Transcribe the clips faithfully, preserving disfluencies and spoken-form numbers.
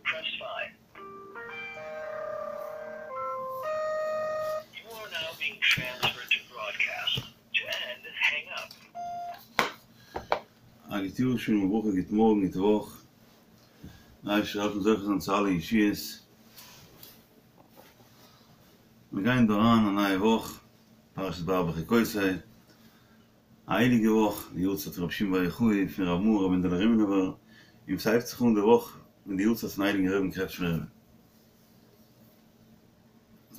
א גוט יאר, שלום וברכה, גוט מארגן, גוט וואך, דער אייבערשטער זאל העלפן זוכה זיין צו אלע ישועות. מיר גייען דא אריין א נייע וואך, פרשת בהר בחוקותי, א הייליגע וואך, די יארצייט פון רבי שמעון בר יוחאי, פון רב מאור רבי מענדעלע רימינובער, און ס'הייבט זיך אן די וואך מיט די יארצייט פון הייליגן רבי'ן קרעטשמער רבי.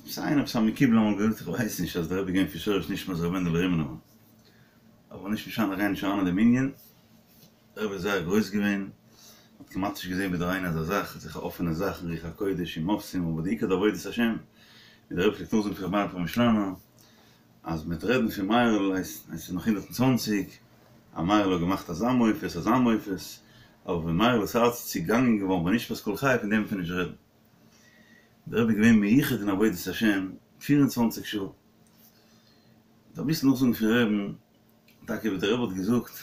עפעס איינער עפעס א מקובל אמאל געזאגט איך ווייס נישט אז דער רבי איז געווען פון שורש נשמת רבי מענדעלע רימינובער, אבער נישט משנה איך גיי נישט אריין אין דעם ענין, דער רבי איז זייער גרויס געווען, מען האט כמעט נישט געזען בדורינו אזא זאך, אזעלכע אפענע זאכן, רוח הקודש און מופתים, אבער די עיקר די עבודת השם, ווי דער רבי פלעגט נאכזאגן פון רבי מאיר פרעמישלאנער, אז מ'וועט רעדן פון מאיר'ל הייסט עס איז נאך הונדערט און צוואנציג, אז מאיר'ל האט געמאכט אזא מופת אזא מופת, אבער ווען מאיר'לס הארץ איז צעגאנגען געווארן ביי נשמת כל חי פון דעם וועט מען נישט רעדן. דער רבי איז געווען מיוחד אין עבודת השם פֿיר און צוואַנציק שעה. כ'וועל אביסל נאכזאגן פון רבי'ן, טאקע ווי דער רבי האט געזאגט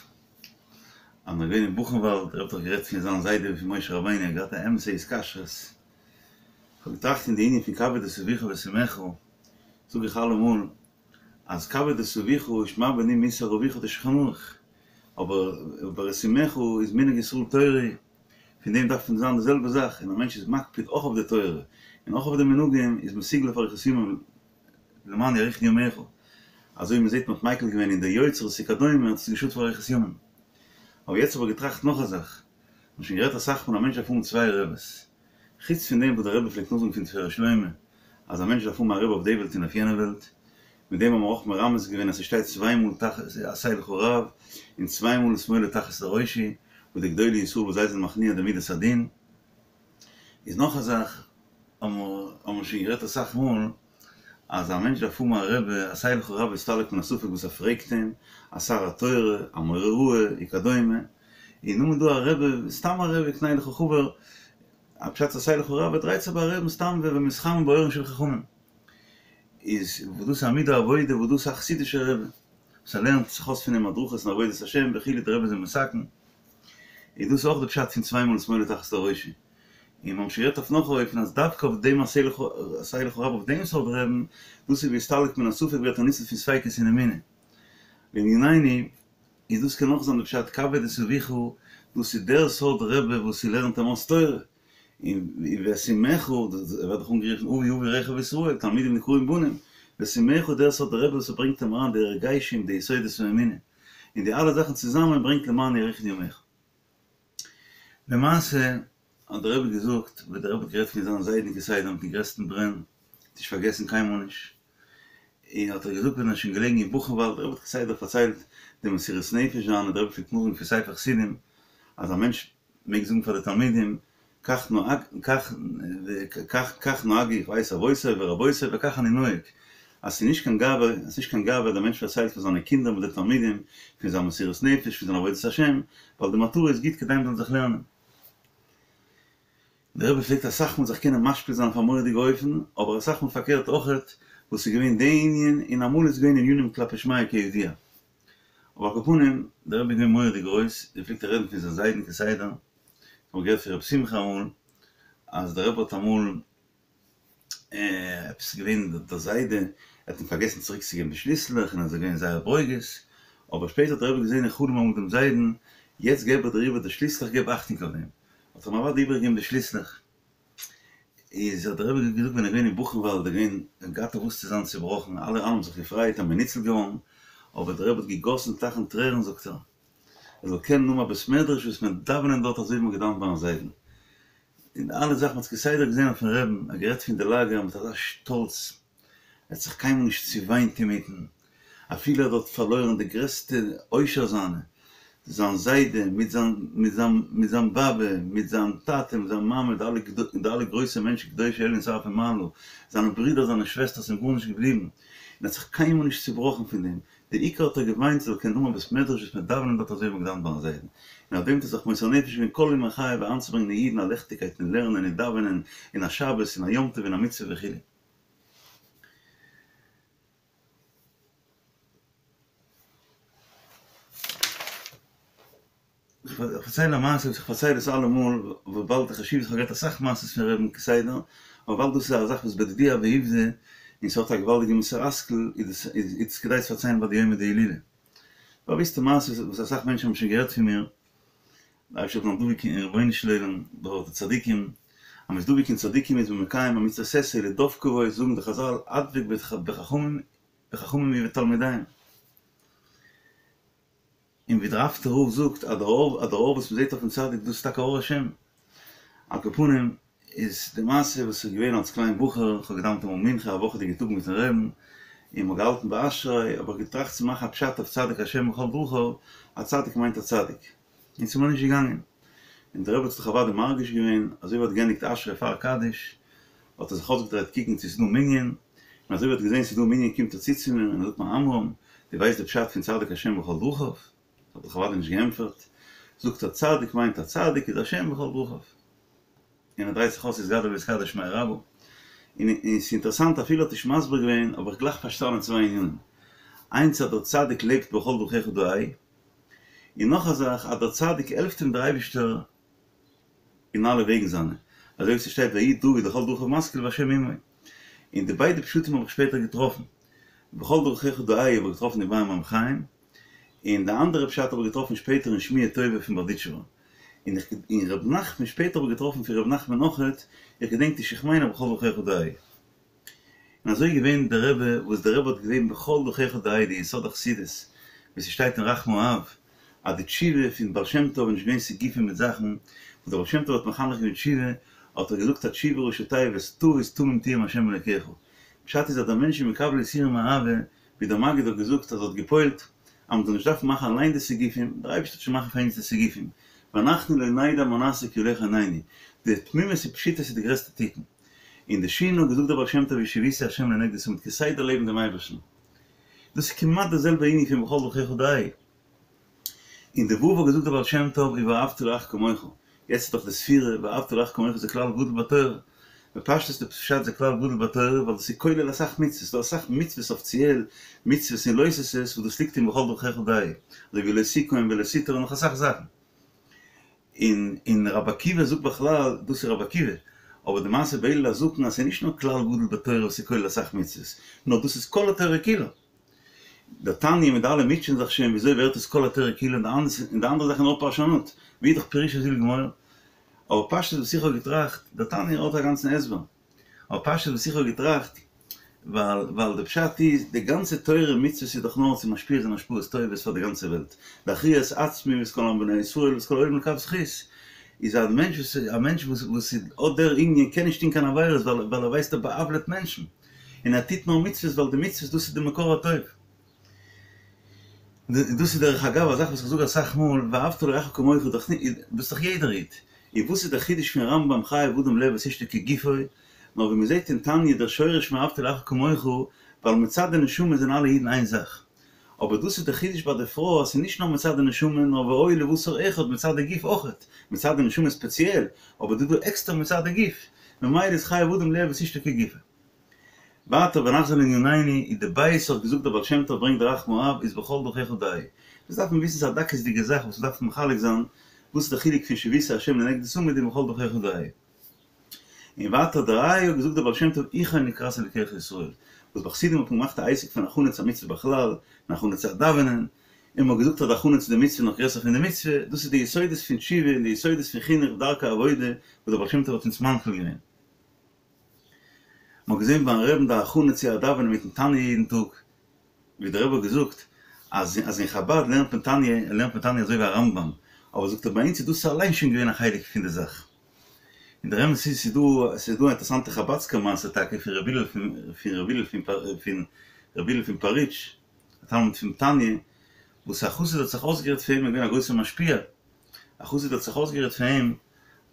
אז מ'איז געווען אין בוכנוואלד, דער רבי האט דאך גערעדט פון זיין זיידע ווי פון משה רבינו, ער האט געהאט א אמת'ע התקשרות. כ'האב געטראכט אין די ענין פון כבד את אביך ואת אמך, זאג איך אלעמאל אז כבד את אביך שמע בני מוסר אביך די שולחן ערוך, אבער אבער את אמך איז מנהג ישראל תורה, פון דעם דארף מען זיין די זעלבע זאך, און א מענטש איז מקפיד אויך אויף די תורה און אויך אויף די מנהגים איז מסוגל אויף אריכות ימים למען יאריכון ימיך, אזוי ווי מען זעט מען האט מיקל געווען אין די יוצרות וכדומה האט עס געשאדט פאר אריכות ימים. אבער יעצט האב איך געטראכט נאך א זאך, מ'האט שוין גערעדט אסאך מאל א מענטש דארף האבן צוויי רעבעס, חוץ פון דעם וואס דער רבי פלעגט נאכזאגן פון תפארת שלמה אז א מענטש דארף האבן א רבי אויף די וועלט און אויף יענע וועלט, מיט דעם האבן מיר אויך מרמז געווען אז ס'שטייט צוויי מאל תחת עשה לך רב און צוויי מאל ושמאלו תחת לראשי, וואס די גדולי ישראל וואס זיי זענען מכניע די מידת הדין. איז נאך א זאך האבן מיר שוין גערעדט אסאך מאל אז א מענטש דארף האבן א רבי, עשה לך רב והסתלק מן הספק וואס ער פרעגט אים, א שר התורה, א מורה הוראה, וכדומה, און נאכדעם איז דא א רבי, סתם א רבי, קנה לך חבר, א פשט עשה לך רב, ער דרייט זיך ביי א רבי'ן סתם ומתחמם באורן של חכמים. איז וואס דאס איז א מידה עבודה, וואס דאס איז א חסידישער רבי, וואס ער לערנט זיך אויס פון אים הדרכות אין עבודת השם וכו', דער רבי איז אים מתקן. איז דאס אויך די פשט פון צוויי מאל ושמאלו תחת לראשי. און מיר האבן שוין גערעדט אויף נאך א אופן אז דווקא אויף דעם עשה לך עשה לך רב אויף דעם סארט רבי'ן, דאס איז והסתלק מן הספק ווערט ער ניצול פון ספיקות אין אמונה. לענינינו, איז דאס קען אויך זיין די פשט כבד את אביך, דאס איז דער סארט רבי וואס ס'לערנט אים אויס תורה, און ואת אמך, ער ווערט דאך אנגערופן אבי אבי רכב ישראל, תלמידים נקראים בנים, ואת אמך דער סארט רבי וואס ס'ברענגט אים אריין די הרגשים די יסודות פון אמונה, און די אלע זאכן צוזאמען ברענגט למען יאריכון ימיך. למעשה האט דער רבי געזאגט, ווי דער רבי האט גערעדט פון זיין זיידן כסדר מיטן גרעסטן ברען, נישט פארגעסן קיינמאל נישט, און האט ער געזאגט ווען ער איז שוין געלעגן אין בוכנוואלד, דער רבי האט כסדר פארציילט די מסירות נפש זיינע, דער רבי פלעגט נאכזאגן פון ספר חסידים אז א מענטש מעג זאגן פאר די תלמידים, כך נהג, כך, כך, כך נהגו, איך ווייס אבותי ורבותי וכך אני נוהג, אז ס'איז נישט קיין גאווה, עס איז נישט קיין גאווה אז דער מענטש פארציילט פאר זיינע קינדער מיט די תלמידים פון זיין מסירות נפש, פון זיין עבודת השם, ווייל די מטרה איז גוט כדי מ'זאל זיך לערנען. דער רבי פלעגט אסאך מאל זיך קענען משפיל זיין אויף א מורא'דיגע אופן, אבער אסאך מאל פארקערט אויכעט, וואס איז געווען די ענין, און אמאל איז געווען ענינים כלפי שמיא כידוע. אבער על כל פנים, דער רבי איז געווען מורא'דיג גרויס, ער פלעגט רעדן פון זיין זיידן כסדר, כ'האב געהערט פון ר' שמחה אמאל, אז דער רבי האט אמאל עפעס געווען דער זיידע האט אים פארגעסן צוריק צו געבן די שליסלעך און ער איז געווען זייער ברוגז, אבער שפעטער האט דער רבי געזען אין חלום אמאל דעם זיידן, יעצט געב איך דיר איבער די שליסלעך געב אכטונג אויף דעם, האט ער אים אוודאי איבערגעגעבן די שליסלעך. איז האט דער רבי געזאגט ווען ער איז געווען אין בוכנוואלד איז געווען געהאט אויף וואס צו זיין צובראכן, אלע האבן זיך געפרייט אז מען איז ניצל געווארן, אבער דער רבי האט געגאסן טייכן טרערן זאגט ער, ער זאל קענען האבן א בית מדרש וואס מען דאווענען דארט אזוי ווי מען האט געדאווענט ביים זיידן, און אלע זאכן מען האט כסדר געזען אויפן רבי'ן, ער האט גערעדט פון די לאגער מיט אזא שטאלץ, ער האט זיך קיינמאל נישט צעוויינט אינמיטן, אפילו ער האט דארט פארלוירן די גרעסטע עושר זיינע, זיין זיידע מיט זיין מיט זיין מיט זיין באבע, מיט זיין טאטע מיט זיין מאמע, די אלע די אלע גרויסע מענטשן קדושי עליון שרפי מעלה, זיינע ברידער זיינע שוועסטערס איז אים גארנישט געבליבן, און ער האט זיך קיינמאל נישט צובראכן פון דעם, די עיקר האט ער געוויינט זאל קענען האבן א בית מדרש וואס מען דאווענען דארט אזוי ווי מען האט געדאווענט ביים זיידן, און אויף דעם האט ער זיך מוסר נפש געווען כל ימי חייו אריינצוברענגען אין אידן א ליכטיגקייט אין לערנען און דאווענען און א שבת און א יום טוב און א מצוה וכו'. איך פארצייל א מעשה וואס איך פארצייל עס אלעמאל, וויבאלד די חשיבות, איך האב געהערט אסאך מעשות פון רבי'ן כסדר, אבער וויבאלד דאס איז א זאך וואס בדידי הוה עובדא, און ס'האט א געוואלדיגע מוסר השכל, איז עס כדאי צו פארציילן ביי די יומא דהילולא. באוויסטע מעשה וואס אסאך מענטשן האבן שוין געהערט פון מיר, דער אייבערשטער זאל דבוק אין רבונו של עולם דורך די צדיקים, אז מ'איז דבוק אין צדיקים איז מען מקיים א מצוות עשה לדבקה בו, זאגן די חזל הדבק בחכמים בחכמים ובתלמידיהם. און ווי דער אפטער רב זאגט אז דער אור אז דער אור וואס מ'זעט אויפן צדיק דאס איז טאקע אור השם. על כל פנים איז די מעשה וואס איז געווען אלס קליין בחור, איך האב געדאווענט אמאל מנחה א וואכעדיגע טאג מיטן רעבן, און מ'האט געהאלטן ביי אשרי, האב איך געטראכט צו מאכן א פשט אויף צדיק השם בכל דרכיו, א צדיק מיינט א צדיק. און ס'איז מיר נישט געגאנגען. און דער רבי האט זיך אוודאי מרגיש געווען, אזוי ווי ער האט געענדיגט אשרי פאר קדיש, האט ער זיך אויסגעדרייט קוקן צו ס'איז דא מנין, און אזוי ווי ער האט געזען ס'איז דא מנין קומט ער צו צו מיר און ער זאגט מיר עמרם, דו ווייסט די פשט פון צדיק השם בכל דרכיו? האב איך אוודאי נישט געענטפערט, זאגט ער צדיק מיינט א צדיק איז השם בכל דרכיו. און ער דרייט זיך אויס יתגדל ויתקדש שמיה רבא. און ס'איז אינטערעסאנט אפילו האט נישט מסביר געווען האב איך גלייך פארשטאנען צוויי ענינים. איינס אז דער צדיק לעבט בכל דרכיך דעהו, און נאך א זאך אז דער צדיק העלפט אים דער אייבישטער אין אלע וועגן זיינע, אזוי ווי ס'שטייט ויהי דוד לכל דרכיו משכיל והשם עמו. און די ביידע פשטים האב איך שפעטער געטראפן. בכל דרכיך דעהו האב איך געטראפן אין באר מים חיים, און די אנדערע פשט האב איך געטראפן שפעטער אין שמועה טובה פון בארדיטשובער. און איך און ר' נחמן שפעטער האב איך געטראפן פון ר' נחמן אויכעט, איך געדענק נישט איך מיין אז בכל דרכיך דעהו. און אזוי איז געווען דער רבי וואס דער רבי האט געלעבט בכל דרכיך דעהו די יסוד החסידות ווי ס'שטייט אין רחמי האב אז די תשובה פון בעל שם טוב איז נישט געווען סיגופים מיט זאכן וואס דער בעל שם טוב האט מחנך געווען תשובה האט ער געזאגט א תשובה ראשי תיבות טעות תמים תהיה עם השם אלוקיך פשט איז אז דער מענטש איז מקבל יסורים מאהבה ווי דער מגיד האט געזאגט אז ער האט געפועלט אז מ'זאל נישט דארפן מאכן אליין די סיגופים, דער אייבערשטער וועט שוין מאכן פאר אונז די סיגופים, ואנחנו לא נדע מה נעשה כי הולך עינינו, די תמימות און פשיטות איז די גרעסטע תיקון. און די שין האט געזאגט דער בעל שם טוב ושויתי השם לנגדי תמיד כסדר לעבן דעם אייבערשטן. דאס איז כמעט די זעלבע ענין פון בכל דרכיך דעהו. און די ו' האט געזאגט דער בעל שם טוב ואהבת לרעך כמוך, יעצט איז דאך די ספירה, ואהבת לרעך כמוך זה כלל גדול בתורה, בפשטות די פשט זה כלל גדול בתורה ווייל דאס איז כולל אסאך מצוות, ס'דא אסאך מצוות אפיציעל, מצוות און לא תעשה'ס וואס דאס ליגט אין בכל דרכיך דעהו, אזוי ווי לא תקום ולא תטור און נאך אסאך זאכן. און און רבי עקיבא זאגט בכלל, דאס איז רבי עקיבא, אבער די מעשה בן הלל הזקן אז ס'איז נישט נאר כלל גדול בתורה וואס איז כולל אסאך מצוות, נאר דאס איז כל התורה כולה. דער תניא מיט די אלע מוטשען זיך שוין וויאזוי ווערט עס כל התורה כולה און די אנדערע זאכן נאר פרשנות, ווי איז דאך פירושו של גמור? אבער פשטות וואס איך האב געטראכט, דער תניא האט א גאנצן הסבר, אבער פשטות וואס איך האב געטראכט, ווייל ווייל די פשט איז, די גאנצע תורה ומצוות איז דאך נאר צו משפיע זיין השפעות טובות פאר די גאנצע וועלט, להכריע את עצמי ואת כל עם בני ישראל ואת כל העולם לכף זכות, איז א מענטש וואס א מענטש וואס וואס האט דער ענין קען נישט טון קיין עבירות ווייל ווייל ער ווייסט ער בא'עוולה'ט מענטשן. און ער טוט נאר מצוות ווייל די מצוות דאס איז די מקור הטוב. דאס איז דרך אגב א זאך וואס איך זאג אסאך מאל, ואהבת לרעך כמוך איז דאך דאס איז דאך יעדער איד. און וואס איז דער חידוש פון רמב ם חייב אדם לאהוב את אשתו כגופו, נאר ווי מ'זעט אין תניא דער שורש פון ואהבת לרעך כמוך, ווייל מצד די נשמה זענען אלע אידן איין זאך. אבער דאס איז דער חידוש ביי די פרוי אז ס'איז נישט נאר מצד די נשמה נאר והיו לבשר אחד מצד די גוף אויכעט, מצד די נשמה ספעציעל, אבער דא דא עקסטער מצד די גוף, ממילא איז חייב אדם לאהוב את אשתו כגופו. ווייטער ונחזור לענינינו, איז די בית האט געזאגט דער בעל שם טוב ברענגט דער רחמי האב איז בכל דרכיך דעהו. דאס דארף מען וויסן ס'איז א דקות'דיגע זאך וואס מ'דארף מחלק זיין וואס איז די חילוק פון שויתי השם לנגדי תמיד און בכל דרכיך דעהו. און ווייטער דער ה' האט געזאגט דער בעל שם טוב הוכן לקראת אלקיך ישראל, וואס ביי חסידים האט מען געמאכט א עסק פון הכנה צו א מצוה בכלל, און הכנה צו א דאווענען, און מען האט געזאגט אז די הכנה צו די מצוה איז נאך גרעסער פון די מצוה, דאס איז די יסודות פון תשובה און די יסודות פון חינוך דרכי עבודה וואס דער בעל שם טוב האט אונז מנחיל געווען. מען האט געזען ביים רעבן די הכנה צו א דאווענען מיטן תניא יעדן טאג, ווי דער רבי האט געזאגט אז אז אין חבד לערנט מען תניא לערנט מען תניא אזוי ווי א רמב ם, אבער זאגט ער ביי אונז איז דאס אליין שוין געווען א חלק פון די זאך. און דער אמת איז ס'איז דא ס'איז דא א אינטערעסאנטע חבדסקער מעשה טאקע פון ר' הלל פון פון ר' הלל פון פון ר' הלל פון פאריטש, א תלמיד פון תניא, וואס א חסיד האט זיך אויסגערעדט פון אים, ער איז געווען א גרויסער משפיע, א חסיד האט זיך אויסגערעדט פון אים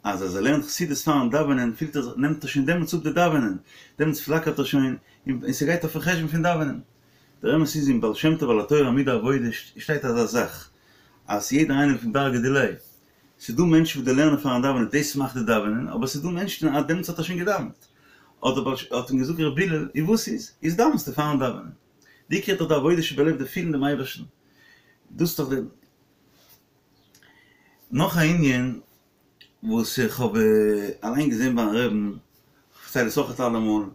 אז אז ער לערנט חסידות פארן דאווענען פילט ער זיך נעמט ער שוין דעמאלטס אפ די דאווענען, דעמאלטס פלאקערט ער שוין און ס'גייט אויפן חשבון פון דאווענען. דער אמת איז אין בעל שם טוב על התורה עמודי העבודה שטייט אזא זאך אז יעדער איינער לפום דרגא דיליה, ס'איז דא מענטשן וואס די לערנען פארן דאווענען דאס מאכט די דאווענען, אבער ס'איז דא מענטשן אז דעמאלטס האט ער שוין געדאווענט. האט דער בעל האט אים געזאגט ר' הלל, און וואס איז? איז דאווענסטו פארן דאווענען. די עיקר איז דאך די עבודה שבלב די פילן דעם אייבערשטן. דאס איז דאך די. נאך א ענין וואס איך האב אליין געזען ביים רעבן, כ'פארצייל עס אויכעט אלעמאל,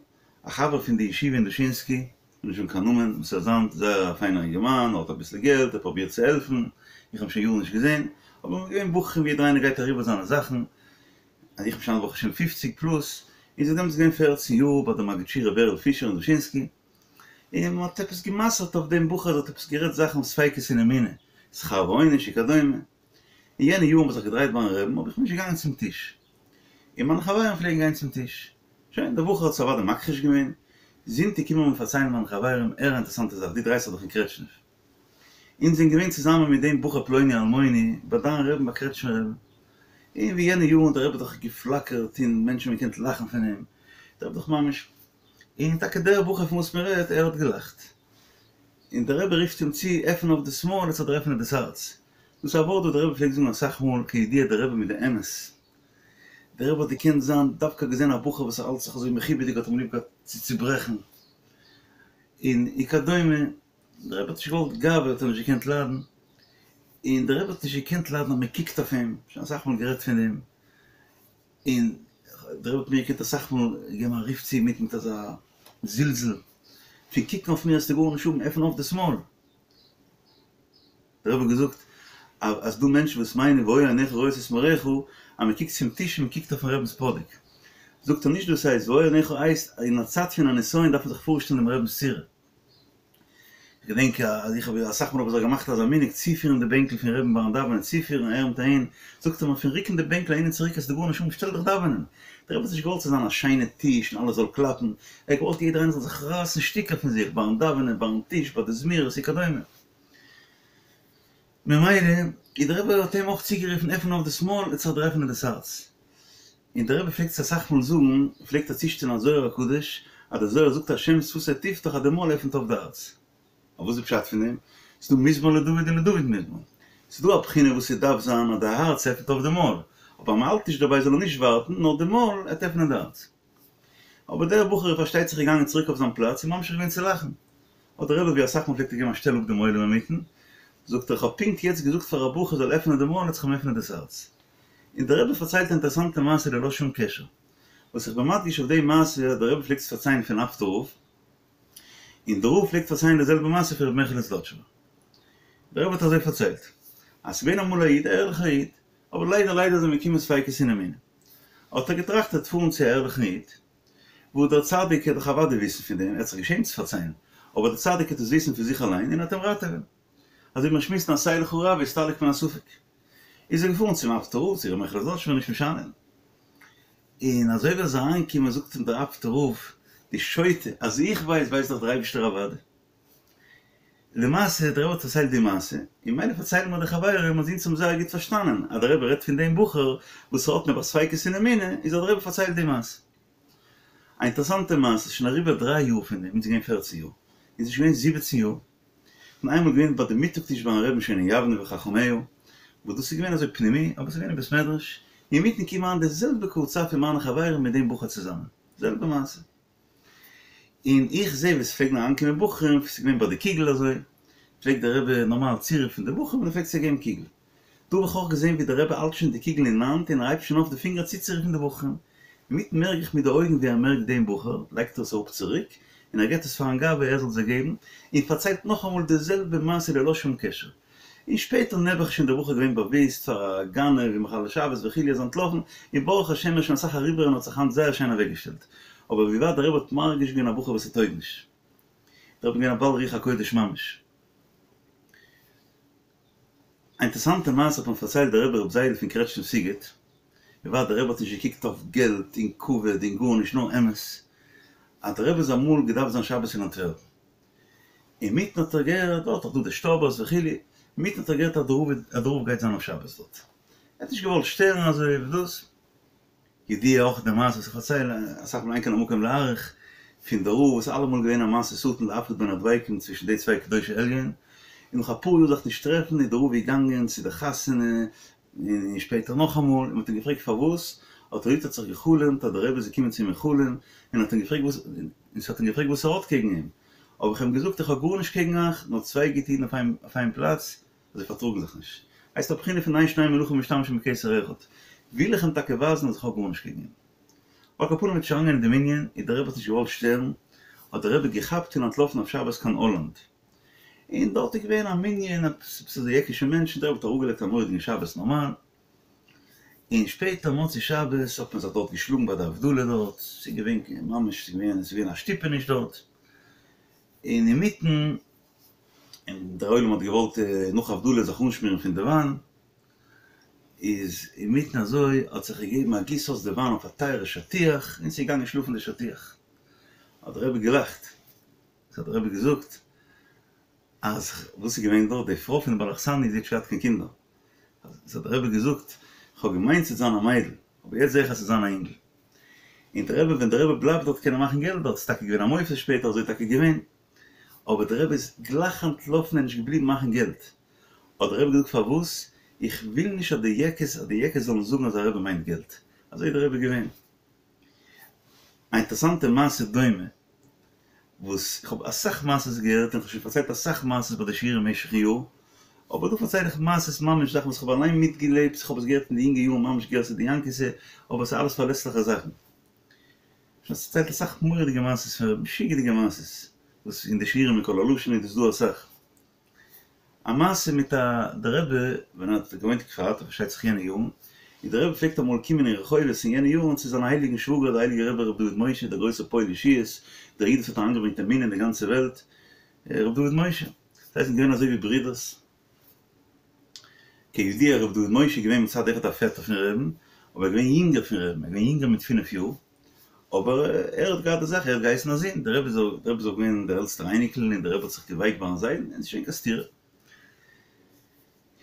א חבר פון די ישיבה אין דושינסקי, כ'וויל נישט זאגן קיין נאמען, וואס ער איז היינט זייער א פיינער אינגערמאן, ער האט אביסל געלט, ער פרובירט צו העלפן, איך האב אים שוין יארן נישט געזען, אבער מ'איז געווען בחורים ווי יעדער איינער גייט אריבער זיינע זאכן, אז איך בין שוין ברוך השם פופציג פלוס, איז ער דעמאלטס געווען פערצן יאר ביי די מגיד שיעור ר' בערל פישער אין דושינסקי, און מען האט עפעס גע'מסר'ט אויף דעם בחור אז ער האט עפעס גערעדט זאכן ספיקות אין אמונה, שכר ועונש וכדומה, אין יענע יארן האב איך זיך געדרייט ביים רעבן אבער איך בין נישט געגאנגען צום טיש, און מיינע חברים פלעגן גיין צום טיש, שוין, דער בחור האט עס אוודאי מכחיש געווען, זונטאג קומען מיר פארציילן מיינע חברים, הער א אינטערעסאנטע זאך, דו דרייסט זיך דאך אין קרעטשניף, אונז זענען געווען צוזאמען מיט דעם בחור פלוני אלמוני ביי דיין רעבן ביי קרעטשמער רעבן, און ווי יענע יארן האט דער רבי דאך געפלאקערט און מענטשן האבן געקענט לאכן פון אים, דער רבי דאך ממש, און טאקע דער בחור פון וואס מען רעדט, ער האט געלאכט, און דער רבי רופט אים צו, עפן אויף דאס מויל, עס זאל דיר עפענען דאס הארץ, דאס איז א ווארט וואס דער רבי פלעגט זאגן אסאך מאל, כידוע דער רבי מיט די אמת, דער רבי האט געקענט זיין, דווקא געזען א בחור וואס האלט זיך אזוי מכובד'יג האט אים ליב געהאט צו צוברעכן, און וכדומה. דער רבי האט נישט געוואלט גאווה האט ער נישט געקענט ליידן, און דער רבי האט נישט געקענט ליידן אז מען קוקט אויף אים, שוין אסאך מאל גערעדט פון דעם, און דער רבי האט מיר געקענט אסאך מאל געבן א רוף צו מיט מיט אזא זלזול, פון קוקן אויף מיר וועסטו גארנישט האבן, עפן אויף דאס מויל. דער רבי האט געזאגט אז דא מענטשן וואס מיינען והיו עיניך רואות את מוריך אז מען קוקט צום טיש און מען קוקט אויפן רבינ'ס פאדיק, זאגט ער נישט דאס הייסט והיו עיניך הייסט אין א צייט פון א נסיון דארף מען זיך פארשטעלן דעם רבינ'ס צורה. כ'געדענק אז איך האב אסאך מאל האב איך זיך געמאכט אזא מנהג צופירן די בענקל פון רעבן ביים דאווענען, צופירן אהער מיט אהין, זאגט ער מיר פון רוקן די בענקל אהין און צוריק וועסטו גארנישט האבן שטעל דיך דאווענען. דער רבי האט נישט געוואלט ס'זאל זיין א שיינע טיש און אלעס זאל קלאפן, ער האט געוואלט יעדער איינער זאל זיך רייסן שטיקער פון זיך ביים דאווענען, ביים טיש, ביי די זמירות וכדומה. ממילא איז דער רבי האט אים אויך צוגערופן עפן אויף דאס מויל עס זאל דיר עפענען דאס הארץ. און דער רבי פלעגט עס אסאך מאל זאגן, פלעגט ער צושטעלן א זוהר הקדוש, אז דער זוהר זאגט השם שפתי תפתח אז די מויל עפנט אויף די הארץ. אבער וואס איז פשט פון דעם? ס'איז דא מזמור לדוד און לדוד מזמור. ס'איז דא א בחינה וואס ס'דארף זיין אז די הארץ עפנט אויף די מויל, אבער אז מ'האלט נישט דערביי זאל ער נישט ווארטן, נאר די מויל עט עפענען די הארץ. אבער דער בחור איז פארשטייט זיך געגאנגען צוריק אויף זיין פלאץ און ממשיך געווען צו לאכן. האט דער רבי ווי אסאך מאל פלעגט ער געבן א שטעל אפ דעם עולם אינמיטן, זאגט ער איך האב פונקט יעצט געזאגט פאר א בחור זאל עפענען די מויל האט זיך אים עפענען דאס הארץ. און דער רבי פארציילט א אינטערעסאנטע מעשה ללא שום קשר. וואס איך בין מדגיש אויף די מעשה אז דער רבי פלעגט עס פארציילן פון אפטער רב, און דער רב פלעגט פארציילן די זעלבע מעשה פון רבי מעכעלע זלאטשובער. דער רבי האט אזוי פארציילט, אז ס'איז געווען אמאל א איד, א ערליכער איד, אבער ליידער ליידער איז אים געקומען ספיקות אין אמונה. האט ער געטראכט ער וועט פארן צו א ערליכן איד, וואס דער צדיק וועט דאך אוודאי וויסן פון דעם, ער האט זיך געשעמט צו פארציילן, אבער דער צדיק וועט עס וויסן פון זיך אליין און ער וועט אים ראטעווען. אזוי ווי מען שמועסט אין עשה לך רב הסתלק מן הספק. איז ער געפארן צום אפטער רב, צו ר' מעכעלע זלאטשובער נישט משנה. און אזוי ווי ער איז אריינגעקומען זאגט אים דער אפטער רב, דו שוטה, אז איך ווייס, ווייסט דאך דער אייבישטער אוודאי. למעשה דער רבי האט פארציילט די מעשה, און ממילא פארציילן מיר די חברים אז אונז האבן זייער גוט פארשטאנען אז דער רבי רעדט פון דעם בחור וואס האט נעבעך ספיקות אין אמונה, איז האט דער רבי פארציילט די מעשה. א אינטערעסאנטע מעשה, ס'איז שוין אריבער דריי יאר פון דעם, אונז איז געווען פערצן יאר, אונז איז שוין געווען זיבעצן יאר, כ'בין איינמאל געווען ביי די מיטאג טיש ביים רבי'ן שוין אין יבנה וחכמיה, וואס דאס איז געווען אזוי פנימי, אבער ס'איז געווען אין בית מדרש, אינמיטן קומען אריין די זעלבע קבוצה פון מיינע חברים מיט דעם בחור צוזאמען, זעלבע מעשה. און איך זעה ווי ס'פלעגן אריינקומען בחורים, ס'איז געווען ביי די קוגל אזוי, פלעגט דער רבי נארמאל צורופן די בחורים און ער פלעגט זיי געבן קוגל. דא האב איך אויך געזען ווי דער רבי האלט שוין די קוגל אין האנט און ער הייבט שוין אויף די פינגער צוצורופן די בחורים. אינמיטן מערק איך מיט די אויגן ווי ער מערקט דעם בחור, לייגט ער עס אראפ צוריק, און ער געבט עס פארן גבאי ער זאל זיי געבן, און פארציילט נאכאמאל די זעלבע מעשה ללא שום קשר. און שפעטער נעבעך איז שוין דער בחור געווען באוויסט פאר א גנב ומחלל שבת וכו' איז אנטלאפן, און ברוך השם ער איז שוין אסאך אריבער און האט זיך היינט זייער שיין אוועקגעשטעלט. אבער ווי ווייט דער רבי האט מרגיש געווען א בחור וואס ס'טויג נישט. דער רבי איז געווען א בעל רוח הקודש ממש. א אינטערעסאנטע מעשה האט מיר פארציילט דער רבי רבי זיידל פון קרעטשניף סיגוט, ווי ווייט דער רבי האט נישט געקוקט אויף געלט און כבוד און גארנישט נאר אמת, אז דער רבי איז אמאל געדארפט זיין שבת אין אנטווערפן, אינמיטן האט ער געהערט, דארט איז דא די שטאבערס וכו', אינמיטן האט ער געהערט אז דער רב גייט זיין אויף שבת דארט, ער האט נישט געוואלט שטערן אזוי ווי דאס, ידוע אויך די מעשה וואס איך פארצייל אסאך מאל אין כאן המקום להאריך, פון די רב וואס איז אלעמאל געווען א משא שטן להפריד בין הדבקים צווישן די צוויי קדושי עליון, און נאך אפאר יאר זיך נישט טרעפן איז די רב געגאנגען צו די חתונה, און שפעטער נאכאמאל, און מ'האט אים געפרעגט פארוואס, האט ער געזאגט האט זיך גע'חלומ'ט אז די רבי איז געקומען צו אים אין חלום, און האט אים געפרעגט וואס, און ס'האט אים געפרעגט וואס ער האט קעגן אים, האב איך אים געזאגט איך האב גארנישט קעגן אייך, נאר צוויי גוטע אידן אויף איין פלאץ, זיי פארטראגן זיך נישט. הייסט א בחינה פון אין שני מלכים משתמשים בכתר אחד. וויל איך אים טאקע ווייזן אז איך האב גארנישט קעגן אים. על כל פנים מ'האט נישט אריינגיין אין דעם ענין, און דער רבי האט נישט געוואלט שטערן, האט דער רבי געכאפט און אנטלאפן אויף שבת קיין האלאנד. און דארט איז געווען א מנין, עפעס אזוי יעקישע מענטשן, דער רבי האט אראפגעלייגט א מורא'דיגן שבת נארמאל. און שפעטער מוצאי שבת האט מען זיך דארט געשלאגן ביי די הבדלה דארט, ס'איז געווען ממש, ס'איז געווען, ס'איז געווען א שטופעניש דארט, און אינמיטן, און דער עולם האט געוואלט נאך הבדלה זיך אנשמירן פון די וויין, איז אינמיטן אזוי האט זיך געגעבן א גיס אויס די וויין אויף א טייערע שטיח, און ס'איז געגאנגען שלאפן די שטיח. האט דער רבי געלאכט, האט דער רבי געזאגט, אז וואס איז געווען דארט, די פרוי פון די בעל אכסניא זי האט נישט געהאט קיין קינדער, האט דער רבי געזאגט, כ'האב געמיינט ס'וועט זיין א מיידל, אבער יעצט זעה איך אז ס'וועט זיין א אינגל. און דער רבי, ווען דער רבי בלייבט דארט קען ער מאכן געלט דארט, ס'איז טאקע געווען א מופת שפעטער, אזוי איז טאקע געווען, אבער דער רבי איז גלייך אנטלאפן און נישט געבליבן מאכן געלט. האט דער רבי געזאגט פארוואס? איך וויל נישט אז די יעקעס, אז די יעקעס זאלן זאגן אז דער רבי מיינט געלט. אזוי איז דער רבי געווען. א אינטערעסאנטע מעשה דומה, וואס איך האב אסאך מעשות געהערט און איך האב שוין פארציילט אסאך מעשות ביי די שיעורים במשך'ן יאר, אבער דא פארצייל איך מעשות ממש זאכן וואס איך האב אליין מיטגעלעבט, איך האב עס געהערט אין די יונגע יארן ממש גירסא דינקותא, אבער עס איז אלעס פארלעסליכע זאכן. שוין פארציילט אסאך מורא'דיגע מעשות, משוגע'דיגע מעשות, וואס אין די שיעורים אין קול הלשון איז דאס דא אסאך. א מעשה מיט א די רבי ווען ער האט געוואוינט אין כפר אתא פארשטייט זיך יענע יארן, און די רבי פלעגט אמאל קומען אין רחובות אין יענע יארן צו זיין הייליגן שוואגער די הייליגע רבי ר' דוד משה דער גרויסער פועל ישועות, דער איד וואס האט אריינגעברענגט אמונה אין די גאנצע וועלט, ר' דוד משה. זיי זענען געווען אזוי ווי ברידערס. כידוע ר' דוד משה איז געווען מצד אחד א פעטער פון רעבן, אבער ער איז געווען יונגער פון רעבן, ער איז געווען יונגער מיט פינף יאר, אבער ער האט געהאט די זאך, ער האט געהייסן א זון, דער רבי איז דער רבי איז אויך געווען דער עלטסטער אייניקל און דער רבי האט זיך געווייקט ביים זיידן, און ס'איז נישט געווען קיין סתירה.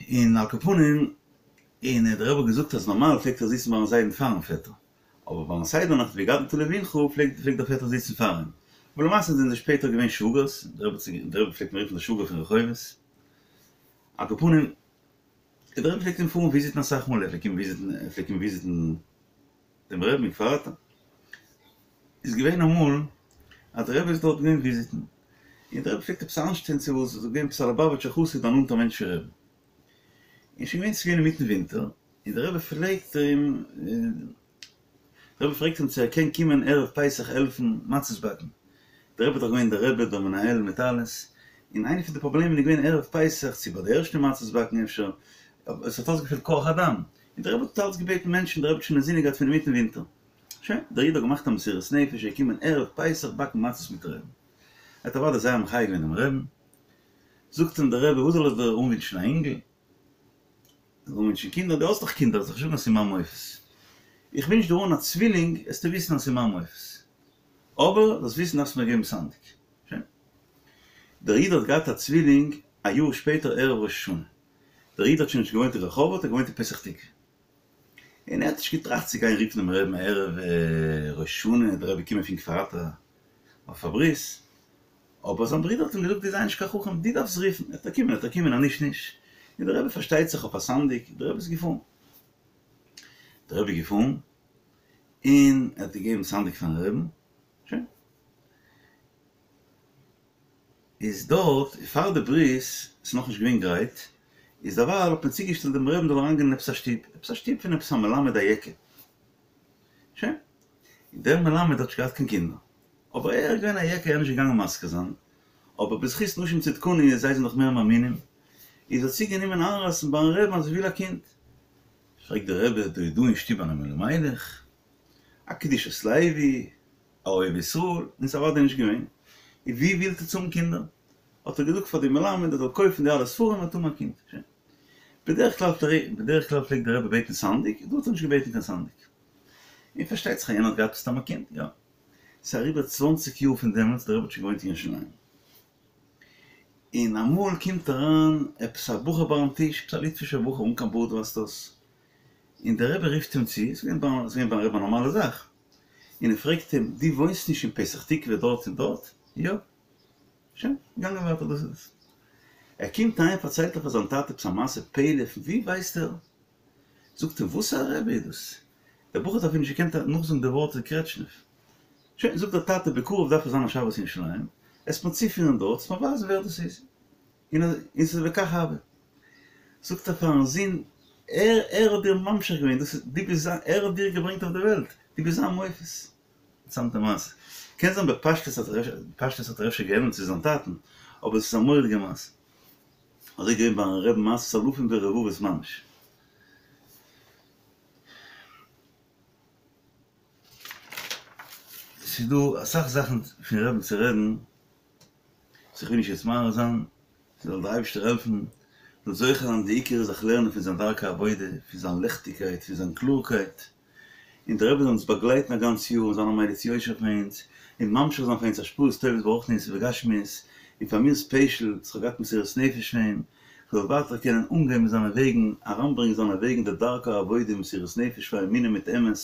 און על כל פנים, און דער רבי האט געזאגט אז נארמאל פלעגט ער זיצן ביים זיידן פארן פעטער, אבער ביים סדר נאכט והגדת לבנך פלעגט פלעגט דער פעטער זיצן פאר אים. אבער למעשה זענען זיי שפעטער געווען שוואגערס, דער רבי דער רבי פלעגט אים רופן דער שוואגער פון רחובות. על כל פנים, דער רבי פלעגט אים פארן וויזיטן אסאך מאל, ער פלעגט קומען וויזיטן, ער פלעגט קומען וויזיטן דעם רבי'ן אין כפר אתא. איז געווען אמאל אז דער רבי איז דארט געווען וויזיטן, און דער רבי פלעגט עפעס איינשטיין צו וואס, איז געווען עפעס א ליובאוויטשער חסיד א נאנטער מענטש פון רבי'ן, און שוין געווען ס'איז געווען אינמיטן ווינטער, און דער רבי פרעגט אים, דער רבי פרעגט אים צו ער קען קומען ערב פסח העלפן מצות באקן, דער רבי איז דאך געווען דער רבי דער מנהל מיט אלעס, און איינע פון די פראבלעמען איז געווען ערב פסח, צו ביי די ערשטע מצות באקן אפשר, עס האט אויסגעפעלט כח אדם, און דער רבי האט אלץ געבעטן מענטשן, דער רבי האט שוין אינזינען געהאט פון אינמיטן ווינטער. שוין, דער איד האט געמאכט א מסירות נפש, ער איז געקומען ערב פסח באקן מצות מיט רבי'ן. ער האט אוודאי זייער מחיה געווען דעם רבי'ן. זאגט אים דער רבי, וואס זאל איך דיר אנווינטשן, א אינגל? זאל אנווינטשן קינדער? דו האסט דאך קינדער, זאלסט נישט זאגן אז ס'איז מיין מופת. איך ווינטש דיר אן א צווילינג, עסטו וויסן אז ס'איז מיין מופת. אבער זאלסט וויסן דארפסט מיר געבן סנדק. שוין. דער איד האט געהאט א צווילינג א יאר שפעטער ערב ראש השנה. דער איד האט שוין נישט געוואוינט אין רחובות, ער האט געוואוינט אין פתח תקוה. און ער האט נישט געטראכט צו גיין רופן דעם רבי'ן ערב ראש השנה, דער רבי קומען פון כפר אתא אויף א ברית, אבער זיין ברודער האט אים געזאגט דו זיי נישט קיין חכם, דו דארפסט רופן, עט ער קומען עט ער קומען אז נישט נישט, און דער רבי פארשטייט זיך אויף א סנדק, דער רבי איז געפארן, דער רבי איז געפארן און ער האט געגעבן סנדק פארן רבי'ן, שוין. איז דארט פאר די ברית ס'איז נאכנישט געווען גרייט, איז דערווייל האט מען צוגעשטעלט דעם רבי'ן זאל אריינגיין אין עפעס א שטוב, עפעס א שטוב פון עפעס א מלמד א יעקע, שוין, און דער מלמד האט נישט געהאט קיין קינדער, אבער ער איז געווען א יעקע ער איז נישט געגאנגען מזכיר זיין, אבער בזכות נשים צדקניות זיי זענען דאך מער מאמינים, איז האט זי גענומען איינרייסן ביים רבי'ן אז זי וויל א קינד, פרעגט דער רבי דא איז דא אין שטוב אן אלימלך, א קדושת לוי, א אוהב ישראל, און ס'איז אוודאי נישט געווען, און ווי ווילט עטס האבן קינדער? האט ער געזאגט פאר די מלמד ער זאל קויפן די אלע ספרים און האבן א קינד. שוין. בדרך כלל בדרך כלל פלעגט דער רבי בעטן סנדק, דא האט ער נישט געבעטן קיין סנדק. און פארשטייט זיך אז יענער האט געהאט מסתם א קינד, יא. ס'איז אריבער צוואנציג יאר פון דעמאלטס, דער רבי האט שוין געוואוינט אין ירושלים. און אמאל קומט אריין עפעס א בחור ביים טיש, עפעס א ליטווישער בחור אן קיין בארד ווייזט אויס, און דער רבי רופט אים צו, ס'איז געווען ביים רבי א נארמאלע זאך, און ער פרעגט אים, דו וואוינסט נישט אין פתח תקוה דארט און דארט? יא. שוין, געגאנגען ווייטער דאס איז עס. ער קומט אהיים פארציילט ער פאר זיין טאטע עפעס א מעשה פלא, פון ווי ווייסט ער? זאגט אים, וואס א רבי איז דאס? דער בחור האט אפילו נישט געקענט נאכזאגן די ווארט קרעטשניף. שוין, זאגט דער טאטע, בקרוב דארף איך זיין א שבת אין ירושלים, עסט מיר צופירן דארט, עסט מיר ווייזן ווער דאס איז. און ס'איז וכך הוה. זאגט ער פארן זון, ער ער האט דיר ממשיך געווען, דאס איז, דו ביסט זיין, ער האט דיר געברענגט אויף די וועלט, דו ביסט זיין מופת. אינטערעסאנטע מעשה. קען זיין בפשטות האט ער אפשר, בפשטות האט ער אפשר געענדלט צו זיין טאטן, אבער עס איז א מורא'דיגע מעשה. אזוי געווען ביים רבי'ן מעשות אלפים ורבבות ממש. ס'איז דא אסאך זאכן פון רבי'ן צו רעדן, וואס איך וויל נישט יעצט מאריך זיין, זאל דער אייבערשטער העלפן זאל זוכה זיין, די עיקר איז זיך לערנען פון זיין דרכי עבודה, פון זיין ליכטיגקייט, פון זיין קלארקייט, און דער רבי זאל אונז באגלייטן א גאנץ יאר און זיין א מליץ יושר פאר אונז, און ממשיך זיין פאר אונז השפעות טובות ברוחניות ובגשמיות, און פאר מיר ספעשל, וואס כ'האב געהאט מסירות נפש פון אים, כ'זאל ווייטער קענען אנגיין מיט זיינע וועגן, אריינברענגען זיינע וועגן די דרכי העבודה און מסירות נפש פאר אמונה מיט אמת,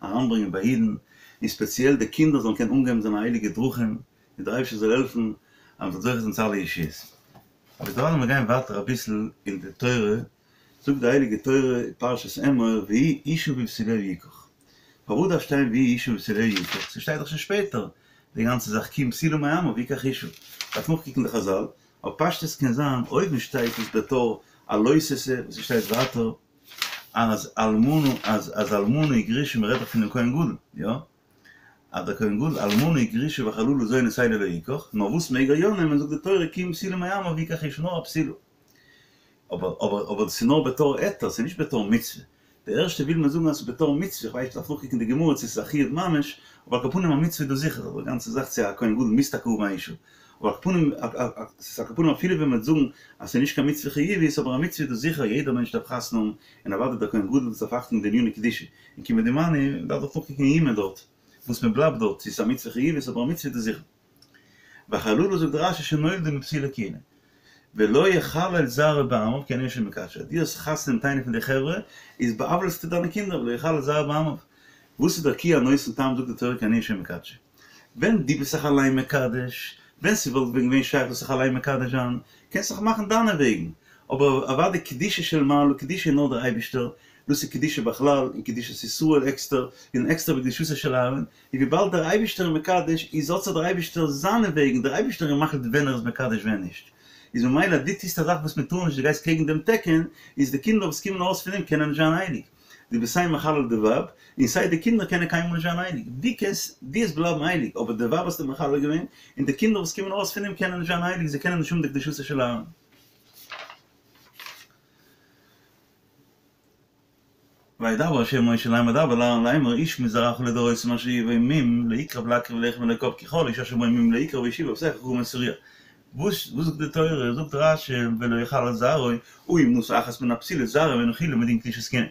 אריינברענגען ביי אידן, און ספעציעל די קינדער זאלן קענען אנגיין מיט זיינע הייליגע דרכים, און דער אייבערשטער זאל העלפן אז מ'זאל זוכה זיין צו אלע ישועות. אבער דערווייל לאמיר גיין ווייטער אביסל אין די תורה, זאגט די הייליגע תורה אין פרשת אמור והוא אשה בבתוליה יקח. פארוואס דארף שטיין והוא אשה בבתוליה יקח? ס'שטייט דאך שוין שפעטער די גאנצע זאך כי אם בתולה מעמיו יקח אשה. דארף נאכקוקן די חזל, אבער פשטות קען זיין אויבן שטייט עס בתור א לא תעשה וואס ס'שטייט ווייטער אז אלמנה אז אז אלמנה וגרושה מ'רעדט דאך פונעם כהן גדול, יא? אז דער כהן גדול אלמנה וגרושה וחללה זונות אלו לא יקח, נאר וואס מעג ער יא נעמען זאגט די תורה כי אם בתולה מעמיו יקח אשה נאר א בתולה. אבער אבער אבער דאס איז נאר בתור היתר, ס'איז נישט בתור מצוה. די ערשטע וויל מען זאגן אז ס'איז בתור מצוה, איך ווייס נישט דארף נאכקוקן די גמרא צו ס'איז א חיוב ממש, אבער על כל פנים א מצוה איז דאס זיכער, די גאנצע זאך צו א כהן גדול מוז טאקע האבן א אישה, אבער על כל פנים ס'איז על כל פנים אפילו ווען מ'וועט זאגן אז ס'איז נישט קיין מצוה חיובית אבער א מצוה איז דאס זיכער יעדער מענטש דארף חתונה האבן און אוודאי דער כהן גדול וואס דארף אכטונג די עניני קדושה און כמדומני מ'דארף דאך נאכקוקן אין יומא דארט וואס מ'בלייבט דארט צו ס'איז א מצוה חיובית אבער א מצוה איז דאס זיכער. וחללה זאגט רשי שנולדה מפסולי כהונה. ולא יחלל זרעו בעמיו כי אני השם מקדשו. אז דו האסט חתונה מיט איינע פון די חברה איז בא'עוול'סטו דיינע קינדער ולא יחלל זרעו בעמיו. וואס איז דער כי הנותן טעם זאגט די תורה כי אני השם מקדשו. ווען דו ביסט זיך אליין מקדש, ווען ס'וואלט ווען געווען שייך זאלסט זיך אליין מקדש זיין, קענסט זיך מאכן דיינע וועגן, אבער אוודאי קדושה של מעלה, קדושה איז נאר דער אייבישטער, דאס איז קדושה בכלל, און קדושת ישראל עקסטער, און עקסטער בקדושתו של אהרן, און וויבאלד דער אייבישטער איז מקדש, איז האט זיך דער אייבישטער זיינע וועגן, דער אייבישטער איז מחליט ווען ער איז מקדש ווען נישט, איז ממילא אז דו טוסט א זאך וואס מען טאר נישט, דו גייסט קעגן דעם תקן, איז די קינדער וואס קומען ארויס פון דעם קענען נישט זיין הייליג. דו ביסט סיי מחלל די ווייב, און סיי די קינדער קענען קיינמאל נישט זיין הייליג. דו קענסט, דו וועסט בלייבן הייליג, אבער די ווייב האסטו מחלל געווען, און די קינדער וואס קומען ארויס פון דעם קענען נישט זיין הייליג, זיי קענען נישט האבן די קדושתו של אהרן. וידבר ה' אל משה לאמר דבר אל אהרן לאמר איש מזרעך לדורותם אשר יהיה בו מום לא יקרב להקריב לחם לאלקיו כי כל איש אשר בו מום לא יקרב והשיב את אפסך כגמול תריע. וואס זאגט די תורה? זאגט רשי ולא יחלל זרעו, הא אם נשא אחת מן הבתולות זרעו אינו חולין מדין קדושת כהונה.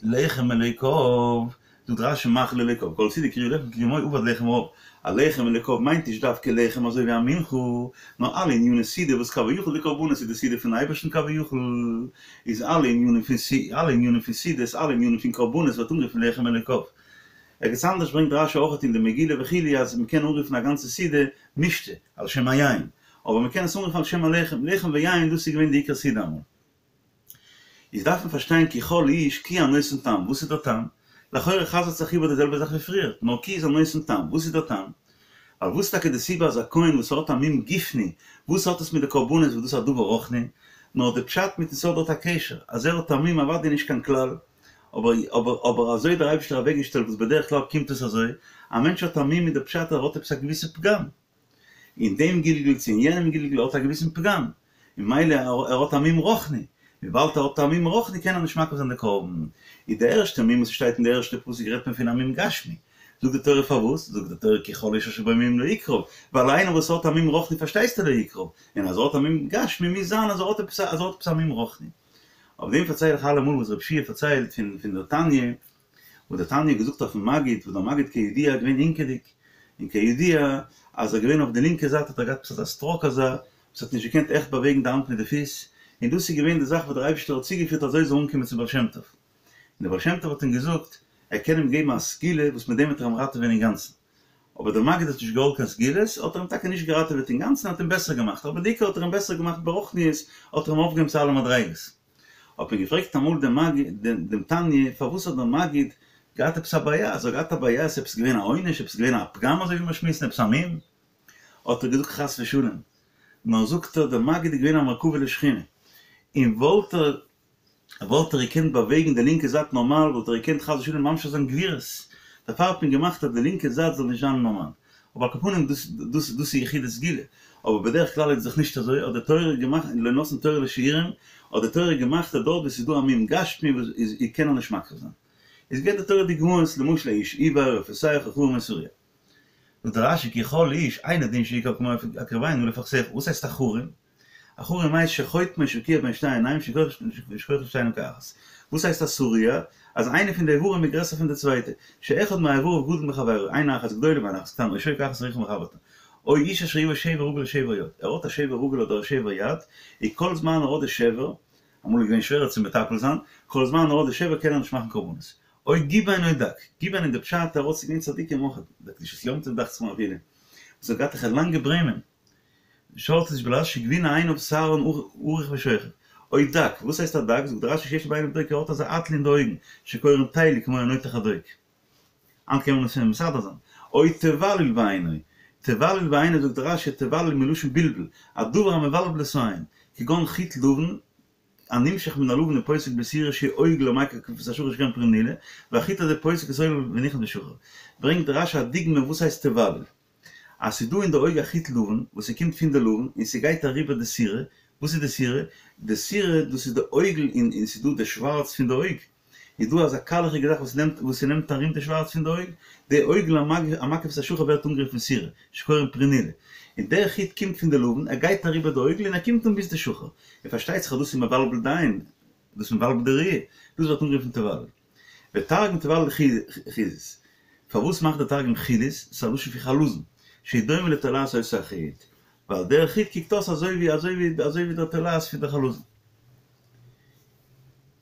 לחם אלוקיו, זאגט רשי מאכל אלוקיו, כל סעודה קרויה לחם כי כמו עבד לחם רעב, א לחם אלוקיו מיינט נישט דווקא לחם אזוי ווי א מנחה, נאר אלע עניני סעודה וואס כביכול די קרבנות איז די סעודה פון אייבערשטן כביכול, איז אלע ענינים פון אלע ענינים פון סעודות אלע ענינים פון קרבנות ווערט אנגערופן לחם אלוקיו. ערגעץ אנדערש ברענגט רשי אויך אין די מגילה וכו' אז מ'קען אנרופן א גאנצע סעודה משתה, על שם היין, אבער מ'קען עס אנרופן על שם הלחם, לחם ויין דאס איז געווען די עיקר סעודה אמאל. איז דארף מען פארשטיין כי כל איש כי הנותן טעם, וואס איז דער טעם? לכאורה חזר'ט זיך איבער די זעלבע זאך ווי פריער, נאר כי איז הנותן טעם, וואס איז דער טעם? ווייל וואס איז טאקע די סיבה אז א כהן וואס האט א מום גופני, וואס האט עס מיט די קרבנות וואס דאס איז א דבר רוחני? נאר די פשט מיטן ס'האט דארט א קשר, אז ער האט א מום אוודאי נישט קיין כלל, אבער אבער אבער אזוי האט דער אייבערשטער אוועקגעשטעלט וואס בדרך כלל קומט עס אזוי, א מענטש האט א מום איז די פשט אז ער האט עפעס א געוויסע פגם, אין דעם גלגול צו אין יענעם גלגול ער האט א געוויסן פגם, און ממילא ער האט א מום רוחני, וויבאלד ער האט א מום רוחני קען ער נישט מקריב זיין די קרבן. איז די ערשטע מום וואס שטייט אין די ערשטע פסוק רעדט מען פון א מום גשמי, זאגט די תורה פארוואס? זאגט די תורה כי כל איש אשר בו מום לא יקרב, ווייל איינער וואס האט א מום רוחני פארשטייסטו לא יקרב, און אז ער האט א מום גשמי מוז זיין אז ער האט עפעס אז ער האט עפעס א מום רוחני. אויף דעם פארצייל איך אלעמאל וואס רב שיע פארציילט פון פון דער תניא, וואס דער תניא האט געזאגט אויפן מגיד, וואס דער מגיד כידוע איז געווען הינקעדיג, און כידוע אז ער איז געווען אויף די לינקע זייט האט ער געהאט עפעס אזא סטראוק אזא, וואס האט נישט געקענט עכט באוועגן די האנט מיט די פיס, און דאס איז געווען די זאך וואס דער אייבערשטער האט צוגעפירט אזוי ער זאל אנקומען צום בעל שם טוב. און דער בעל שם טוב האט אים געזאגט ער קען אים געבן א סגולה וואס מיט דעם וועט ער אים ראטעווען אינגאנצן. אבער דער מגיד האט נישט געוואלט קיין סגולות, האט ער אים טאקע נישט געראטעוועט אינגאנצן, האט אים בעסער געמאכט, אבער די עיקר האט ער אים בעסער געמאכט ברוחניות, האט ער אים אויפגעהויבן צו אלע מדריגות. האט מען געפרעגט אמאל דעם מגיד, דעם תניא, פארוואס האט דער מגיד געהאט עפעס א בעיה, אז ער האט געהאט א בעיה, איז עפעס געווען א עונש, עפעס געווען א פגם אזוי ווי מיר שמועסן, עפעס א מום? האט ער געזאגט חס ושלום, נאר זאגט ער, דער מגיד איז געווען א מרכבה לשכינה, און וואלט ער וואלט ער געקענט באוועגן די לינקע זייט נארמאל וואלט ער געקענט חס ושלום ממשיך זיין גבורות, דערפאר האט מען געמאכט אז די לינקע זייט זאל נישט זיין נארמאל. אבער על כל פנים דאס דאס דאס איז יחידי סגולה, אבער בדרך כלל איז דאך נישט אזוי, האט די תורה געמאכט לא נתנה תורה לשעורים, האט די תורה געמאכט אז דארט וואו ס'איז דא א מום גשמי וואס איז קען ער נישט מקריב זיין. איז געבט די תורה דוגמאות, למשל איש עור או פסח או חרם או שרוע. זאגט דער רש"י כי כל איש אינו דין שיקרב כמו הקריבנו לפחתך, וואס הייסט א חרם? א חרם הייסט שחוטמו שקוע בין שתי עיניים שכוחו שתיהן כאחת. וואס הייסט א שרוע? אז איינע פון די איברים איז גרעסער פון די צווייטע, שאחד מאיבריו גדול מחבירו, עין אחת גדולה ועין אחת קטנה, או שוק אחת ארוכה מחברתה. או איש אשר יהיה בו שבר רגל או שבר יד, ער האט א שבר רגל אדער א שבר יד, און כל זמן ער האט די שבר, אמאל איז געווען שווערער צו מטפל זיין, כל זמן ער האט די שבר קען ער נישט מאכן קרבנות. או גבן או דק, גבן איז די פשט ער האט ס'איז געווען צדיקים אויך, דער קדושת יום טוב דאכט זיך מיר אפילו, וואס האט געהאט אזעלכע לאנגע ברעמען, שאלט איז בלעז שגבין עיניו שערן ארוך ושוכב. או דק, וואס הייסט א דק? זאגט רש"י שיש בעיניו דוק ער האט אזא אייטל אין די אויגן, שקורין תלי כמו הנותח הדוק. היינט קען מען עס שוין מסדר זיין. או תבליל בעינו, תבליל בעינו זאגט רש"י תבליל מלשון בלבול, א דבר המבלבל את העין, כגון חוט לבן, הנמשך מן הלבן ופוסק בשעורה שהוא עוגל המקיף את השחור שקורין פרנילה, והחוט הזה פוסק את העוגל ונכנס בשחור. ברענגט רש"י א דוגמא וואס הייסט תבליל. אז ס'איז דא אין די אויג א חוט לבן וואס ס'קומט פון די לבן און ס'גייט אריבער די שעורה, וואס איז די שעורה? די שעורה דאס איז די עוגל און און ס'איז דא די שווארץ פון די אויג, איז דא אזא קיילעכיגע זאך וואס נעמט וואס ס'נעמט ארום די שווארץ פון די אויג, די עוגל המקיף את השחור ווערט אנגערופן שעורה, שקורין פרנילה, און דער חוט קומט פון די לבן, ער גייט אריבער די עוגל און ער קומט אן ביז די שחור, און פארשטייט זיך אז דאס איז מבלבל די עין, דאס איז מבלבל די ראי', דאס ווערט אנגערופן תבליל. ותרגום תבליל חילית. פארוואס מאכט דער תרגום חילית? ס'איז א לשון פון חלזון, שהוא דומה לתולעת אותו החוט, ווייל דער חוט קוקט אויס אזוי ווי אזוי ווי אזוי ווי דער תולעת פון דער חלזון.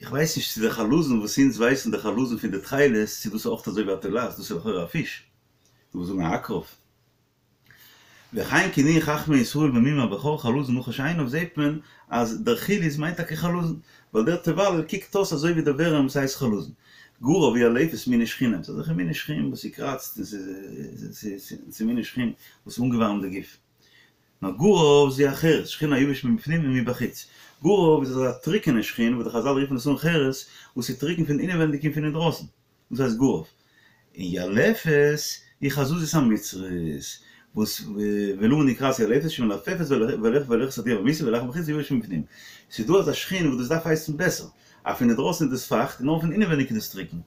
איך ווייס נישט צו דער חלזון וואס אונז ווייסן דער חלזון פון די תכלת, צו דאס איז אויך אזוי ווי א תולעת, דאס איז לכאורה א פיש. דו ווילסט זאגן א עקרב. וכן כינוהו חכמי ישראל במום הבכור חלזון נחש עיניו זעהט מען אז דער חילית מיינט טאקע חלזון, ווייל דער תבליל קוקט אויס אזוי ווי דער ווערעם וואס הייסט חלזון. גרב וילפת מיני שחין, ס'איז אזעלכע מיני שחין וואס ס'קראצט און ס'איז מיני שחין וואס אנגעווארעמט די גוף. נאר גרב זו החרס, שחין היבש מבפנים ומבחוץ. גרב איז אזא טרוקענע שחין וואס די חזל רופן עס אן חרס, וואס איז טרוקן פון אינעווענדיג און פון אינדרויסן. דאס הייסט גרב. און ילפת היא חזזית המצרית, וואס ולמה נקראת ילפת שמלפפת והולכת עד יום המיתה ולח מבחוץ ויבש מבפנים. ס'איז דא אזא שחין וואס דאס דארף הייסן בעסער, אז פון אינדרויסן איז דאס פייכט און נאר פון אינעווייניג איז דאס טרוקן.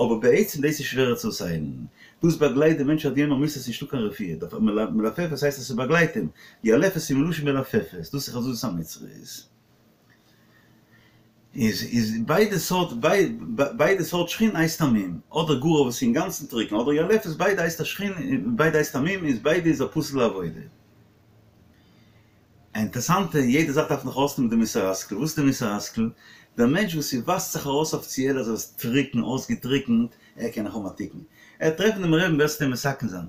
אבער בעצם דאס איז שווערער צו אויסהיילן. דאס באגלייט די מענטש עד יום המיתה ס'איז נישטא קיין רפואה. דערפאר מלפפת הייסט אז ס'באגלייט אים. ילפת איז מלשון מלפפת, דאס איז חזזית המצרית. איז איז ביידע סארט ביידע סארט שחין הייסט א מום, אדער גרב וואס איז אינגאנצן טרוקן אדער ילפת ביידע הייסט א שחין און ביידע הייסט א מום איז ביידע איז א פסול לעבודה. א אינטערסאנטע יעדע זאך דארף נאך אויסנעמען די מוסר השכל, וואס איז די מוסר השכל? דער מענטש וואס ס'ווייזט זיך ארויס אפיציעל אז ער איז טרוקן אויסגעטרוקנט ער קען נאך האבן א תיקון, ער וועט טרעפן דעם רעבן וועסטו אים מתקן זיין,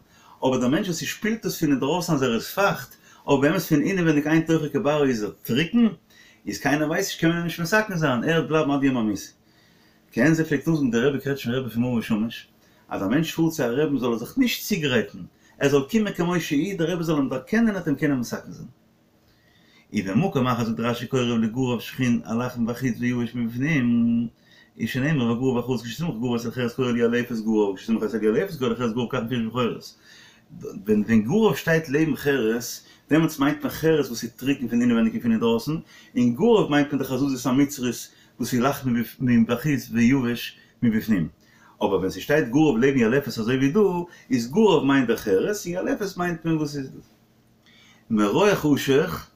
אבער דער מענטש וואס ס'שפילט עס פון אינדרויסן אז ער איז פייכט, אבער באמת פון אינעווייניג אין תוכו כברו איז ער טרוקן, איז קיינער ווייסט נישט קען מען אים נישט מתקן זיין, ער וועט בלייבן עד יום המיתה. כעין זה פלעגט אנזאגן דער רבי קרעטשניפער רבי פון מאור ושמש, אז א מענטש פארט צו א רעבן זאל ער זיך נישט צוגרייטן, ער זאל קומען כמו שהוא, דער רבי זאל אים דערקענען און ער וועט אים קענען מתקן זיין. ובמקום אחר זאגט רש"י קרוב לגרב שחין הלח מבחוץ ויבש מבפנים, איז שנאמר וגרב החרס כשסמך גרב אצל חרס קורא לילפת גרב כשסמך אצל ילפת קורא לחרס גרב כך מפורש בחורס. ווען ווען גרב שטייט לעבן חרס, דעמאלטס מיינט מען חרס וואס איז טרוקן פון אינעווייניג און פון אינדרויסן, און גרב מיינט מען די חזזית המצרית וואס איז לח מבחוץ ויבש מבפנים. אבער ווען ס'שטייט גרב לעבן ילפת אזוי ווי דא, איז גרב מיינט דער חרס און ילפת מיינט מען וואס איז דאס. מרוח אשך,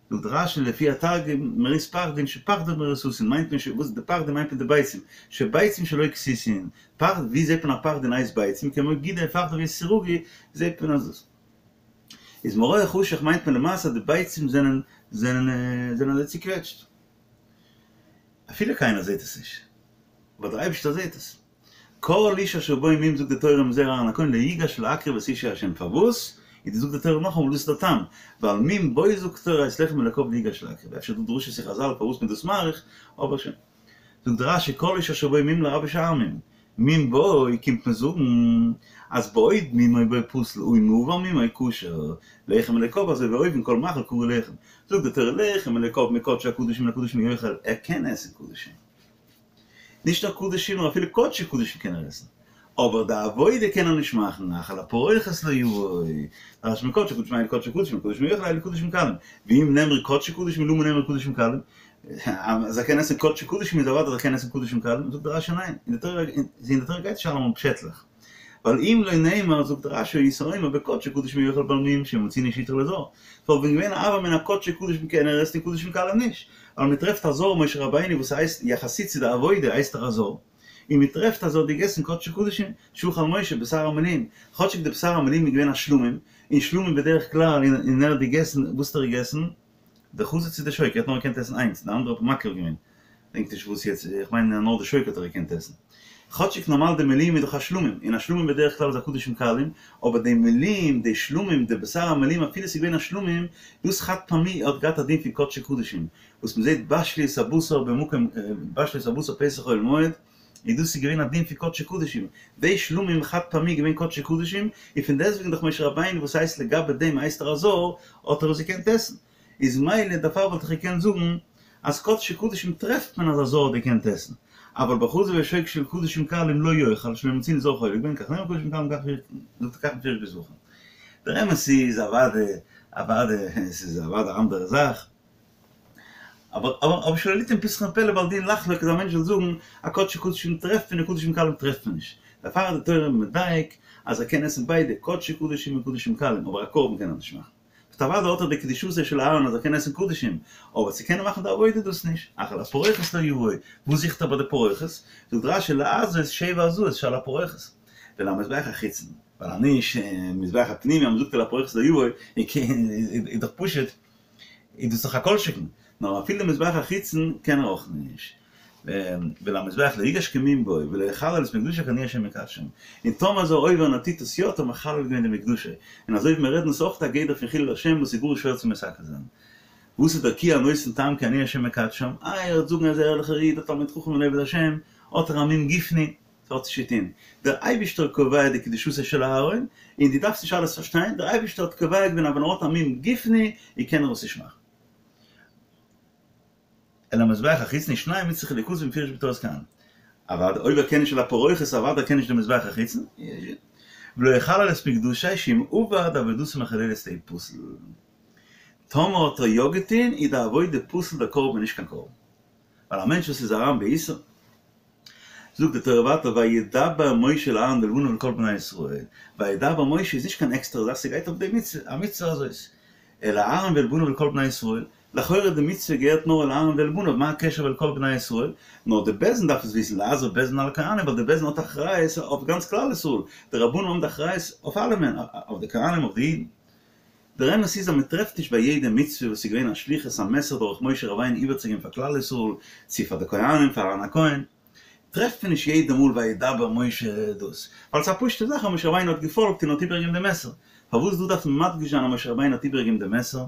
זאגט רש"י לפי התרגום מרית פחדין שפחדין מרוססין מיינט מען וואס די פחדין מיינט מען די ביצים, שביצים שלו כסיסין, פחד ווי זעט מען א פחדין הייסט ביצים כמו גידי פחדין ויסירוגי זעט מען אז דאס איז מרוח אשך מיינט מען למעשה די ביצים זענען זענען זענען אזוי צוקוועטשט אפילו קיינער זעט עס נישט אבער דער אייבערשטער זעט עס. כל איש אשר בו מום זאגט די תורה מזרע אהרן הכהן לא יגש להקריב את אשי ה' פארוואס? איז די זאגט די תורה נאכאמאל דאס איז דער טעם ווייל מום בו זאגט תורה את לחם אלקיו לא יגש להקריב אפשר דא דרשות אין חזל פארוואס מען דאס מאריך אבער שוין זאגט רש"י כל איש אשר בו מום לרבות שאר מום מום בו קומט מען זאגן אז בעוד מומו בו פסול הא אם עבר מומו כשר, לחם אלוקיו אזוי ווי אויבן כל מאכל קרוי לחם, זאגט די תורה לחם אלוקיו מקדשי הקדשים מן הקדשים יאכל, ער קען עסן קדשים. נישט נאר קדשים נאר אפילו קדשי קדשים קען ער עסן, אבער די עבודה קען ער נישט מאכן, אך אל הפרוכת לא יבוא, דרש'נט מען קדשי קדשים אלו קדשי קדשים קדשים יאכל אלו קדשים קלים, ואם נאמרו קדשי קדשים למה נאמרו קדשים קלים, אז ער קען עסן קדשי קדשים איז אוודאי אז ער קען עסן קדשים קלים, זאגט דער רש"י ניין, אין די תורה אין די תורה גייט נישט אלעמאל פשעטלעך, ווייל אם לא נאמר זאגט רש"י הייתי אומר בקדשי קדשים יאכל בעל מום שאם מצינו שהותר לזר, ס'וואלט ווען געווען א הוה אמינא קדשי קדשים קען ער עסן און קדשים קלים נישט, ווייל מ'טרעפט א זר משה רבינו וואס הייסט יחסית צו די עבודה הייסט ער א זר, און מ'טרעפט אז ער האט געגעסן קדשי קדשים, שאכל משה בשר המלואים, כאטשיג די בשר המלואים איז געווען א שלמים, און שלמים בדרך כלל און ער האט געגעסן, וואס האט ער געגעסן? די חזה צו די שוק, ער האט נאר געקענט עסן איינס, די אנדערע האט מען מקריב געווען, כ'דענק נישט וואס יעצט, איך מיין נאר די שוק האט ער געקענט עסן. כאטשיג נארמאל די מלואים איז דאך א שלמים, און א שלמים בדרך כלל איז א קדשים קלים, אבער די מלואים, די שלמים, די בשר המלואים אפילו ס'איז געווען א שלמים, דאס חד פעמי האט געהאט א דין פון קדשי קדשים, וואס מ'זעט בשלו את הבשר במקום, בשלו את הבשר פתח אוהל מועד, און דאס איז געווען א דין פון קדשי קדשים, די שלמים חד פעמי איז געווען קדשי קדשים, און פון דעסטוועגן דאך משה רבינו וואס הייסט לגבי דעם הייסט ער א זר, האט ער עס געקענט עסן. איז מילא דערפאר וואלט איך געקענט זאגן אז קדשי קדשים טרעפט מען אז א זר האט געקענט עסן, אבל בחזה ושוק של קדשים קלים לא יאכל שלא מצינו זר חולק בהן כך נאמר קדשים קלים כך זאגט ער כך מפורש בזבחים. דער אמת איז אוואדע אוואדע עס איז אוואדע א אנדערע זאך, אבער אבער שלא ליתן פתחון פה לבעל דין לחלוק אז א מענטש זאל זאגן א קדשי קדשים טרעפט מען און קדשים קלים טרעפט מען נישט, דערפאר איז די תורה מדייק אז ער קען עסן ביידע קדשי קדשים און קדשים קלים אבער א קרבן קען ער נישט מאכן. באט אוודאי האט ער די קדושתו של אהרן אז ער קען עסן קדשים, אבער צו קענען מאכן די עבודה דאס נישט, אך אל הפרוכת לא יבוא, וואס זוכט ער ביי די פרוכת? זאגט רש"י להזות שבע הזאות שעל הפרוכת, ולמזבח החיצון, ווייל אז נישט מזבח הפנימי אז מ'זאגט אל הפרוכת לא יבוא, איז דאך פשוט איז דאס דאך א כל שכן, נאר אפילו מזבח החיצון קען ער אויך נישט, ולמזבח לא יגש כי מום בו, ולא יחלל את מקדשי כי אני השם מקדשם, און טאמער איז ער עובר און ער טוט עס יא האט ער מחלל געווען די מקדשי, און אזוי ווי מיר רעדן איז אויך א גדר פון חילול השם וואס איז גאר שווער צו מתקן זיין. וואס איז דער כי הנותן טעם כי אני השם מקדשם? איי ער וועט זאגן ער איז א ערליכער איד א תלמיד חכם און עובד השם, האט ער א מום גופני, ס'האט נישט צו טון. דער אייבישטער קובע די קדושתו של אהרן, און דו דארפסט נישט אלעס פארשטיין, דער אייבישטער האט קובע געווען אז ווען ער האט א מום גופני, איז קען ער עס נישט מאכן. אל המזבח החיצון ושניהם הוצרכו ליכתב במפורש בתורת כהנים. אוודאי אויב ער קען נישט אל הפרוכת אוודאי קען נישט די מזבח החיצון. ולא יחלל את מקדשי שאם עבד עבודתו מחוללת תהא פסול. טאמער האט ער יא געטון איז די עבודה פסול דער קרבן נישט קיין קרבן. ווייל א מענטש וואס איז אריין באיסור. זאגט די תורה ווייטער וידבר משה אל אהרן ואל בניו ואל כל בני ישראל, וידבר משה איז נישט קיין עקסטערע זאך ס'גייט אויף די מצוה, המצוה הזאת, אל אהרן ואל בניו ואל כל בני ישראל, לכאורה די מצוה געהערט נאר אל אהרן ואל בניו, מה הקשר ואל כל בני ישראל? נאר די בית דין דארף עס וויסן, להזהיר בית דין על הכהנים, ווייל די בית דין האט אחריות אויף גאנץ כלל ישראל, די רבנים האבן די אחריות אויף אלעמען, אויף די כהנים אויף די אידן. דער אמת איז אז מען טרעפט נישט ביי יעדע מצוה וואס איז געווען א שליחות א מסר דורך משה רבינו איבערצוגעבן פאר כלל ישראל, צו פאר די כהנים פאר אהרן הכהן, טרעפט מען נישט יעדע מאל וידבר משה דאס, ווייל ס'איז א פשוטע זאך אז משה רבינו האט געפאלגט און האט איבערגעגעבן די מסר, פארוואס דא דארף מען מדגיש זיין אז משה רבינו האט איבערגעגעבן די מסר?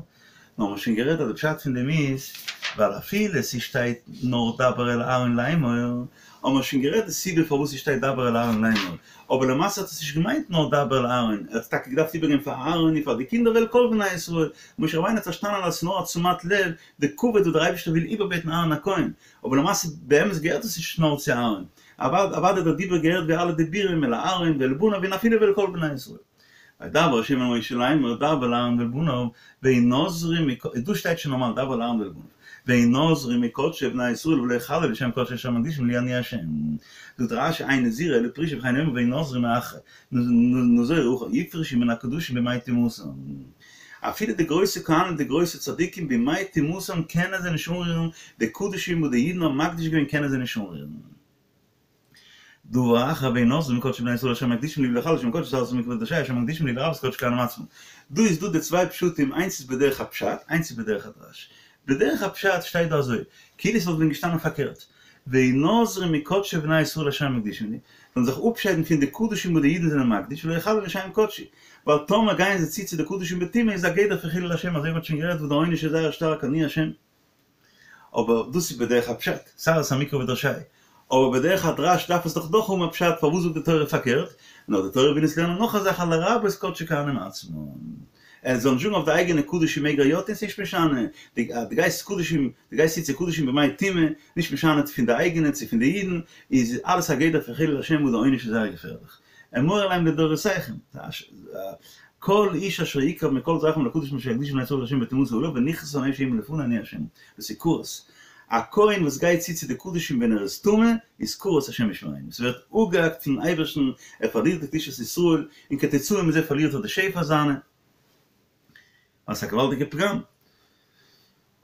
נאר מ'האט שוין גערעדט אז די פשט פון דעם איז ווייל אפילו ס'שטייט נאר דבר אל אהרן לאמור, האבן מיר שוין גערעדט די סיבה פארוואס ס'שטייט דבר אל אהרן לאמור, אבער למעשה האט עס נישט געמיינט נאר דבר אל אהרן, ער האט טאקע געדארפט איבערגעבן פאר אהרן און פאר די קינדער ואל כל בני ישראל, משה רבינו האט פארשטאנען אז עס איז נאר א תשומת לב, די כבוד וואס דער אייבערשטער וויל איבערבעטן אהרן הכהן, אבער למעשה באמת געהערט עס נישט נאר צו אהרן, אוודאי דער דיבור געהערט ווי אלע דיבורים אל אהרן ואל בניו און אפילו ואל כל בני ישראל. וידבר ה' אל משה לאמור דבר אל אהרן ואל בניו והנזרו דא שטייט שוין נארמאל דבר אל אהרן ואל בניו והנזרו מקדשי בני ישראל ולא יחללו שם קדשי אשר הם מקדישים לי אני ה' זאגט רש"י אין נזירה אלא פרישה וכן הוא אומר והנזרו מאחרי נזור אחור יפרשו מן הקדשים בימי טומאתם אפילו די גרויסע כהנים די גרויסע צדיקים בימי טומאתם קענען זיי נישט אנרירן די קדשים וואס די אידן האבן מקדיש געווען קענען זיי נישט אנרירן. דבר אחר והנזרו מקדשי בני ישראל אשר מקדישים לי ולא יחללו שם קדשי שערתם מקדשי אשר מקדישים לי לרבות קדשי כהנים עצמם. דא איז דא די צוויי פשטים איינס איז בדרך הפשט איינס איז בדרך הדרש. בדרך הפשט שטייט דא אזוי כאילו עס וואלט ווען געשטאנען פארקערט והנזרו מקדשי בני ישראל אשר מקדישים לי זאלן זיך אפשיידן פון די קדשים וואס די אידן זענען מקדיש ולא יחללו שם קדשי ווייל טאמער גייען זיי צו צו די קדשים בטומאה איז א גדר פון חילול השם אזוי ווי מ'האט שוין גערעדט וואס די עונש איז זייער שטארק אני השם. אבער דאס איז בדרך הפשט, סרת המקרא ודרשהו. אבער בדרך הדרש דארף עס דאך דאך האבן א פשט פארוואס זאגט די תורה פארקערט, נאר די תורה וויל אונז לערנען נאך א זאך אז לרבות קדשי כהנים עצמן. ער זאל נישט זאגן אויף די אייגענע קדשים מעג ער יא טון ס'נישט משנה, דו גייסט קדשים, דו גייסט צו צו קדשים בימי טומאה, נישט משנה צו פון די אייגענע צו פון די אידן, איז אלעס א גדר פון חילול השם וואס די עונש איז זייער געפערליך. אמור אליהם לדורותיכם, כל איש אשר יקרב מכל זרעכם אל הקדשים אשר יקדישו בני ישראל להשם וטומאתו עליו ונכרתה הנפש ההיא מלפני אני השם, דאס איז כרת. א כהן וואס גייט צו צו די קדשים ווען ער איז טמא, איז כרת השם ישמרינו, ס'ווערט אפגעהאקט פונעם אייבערשטן, ער פארלירט די קדושת ישראל, און כתוצאה מזה פארלירט ער די שפע זיינע. ווייל ס'איז א געוואלדיגע פגם.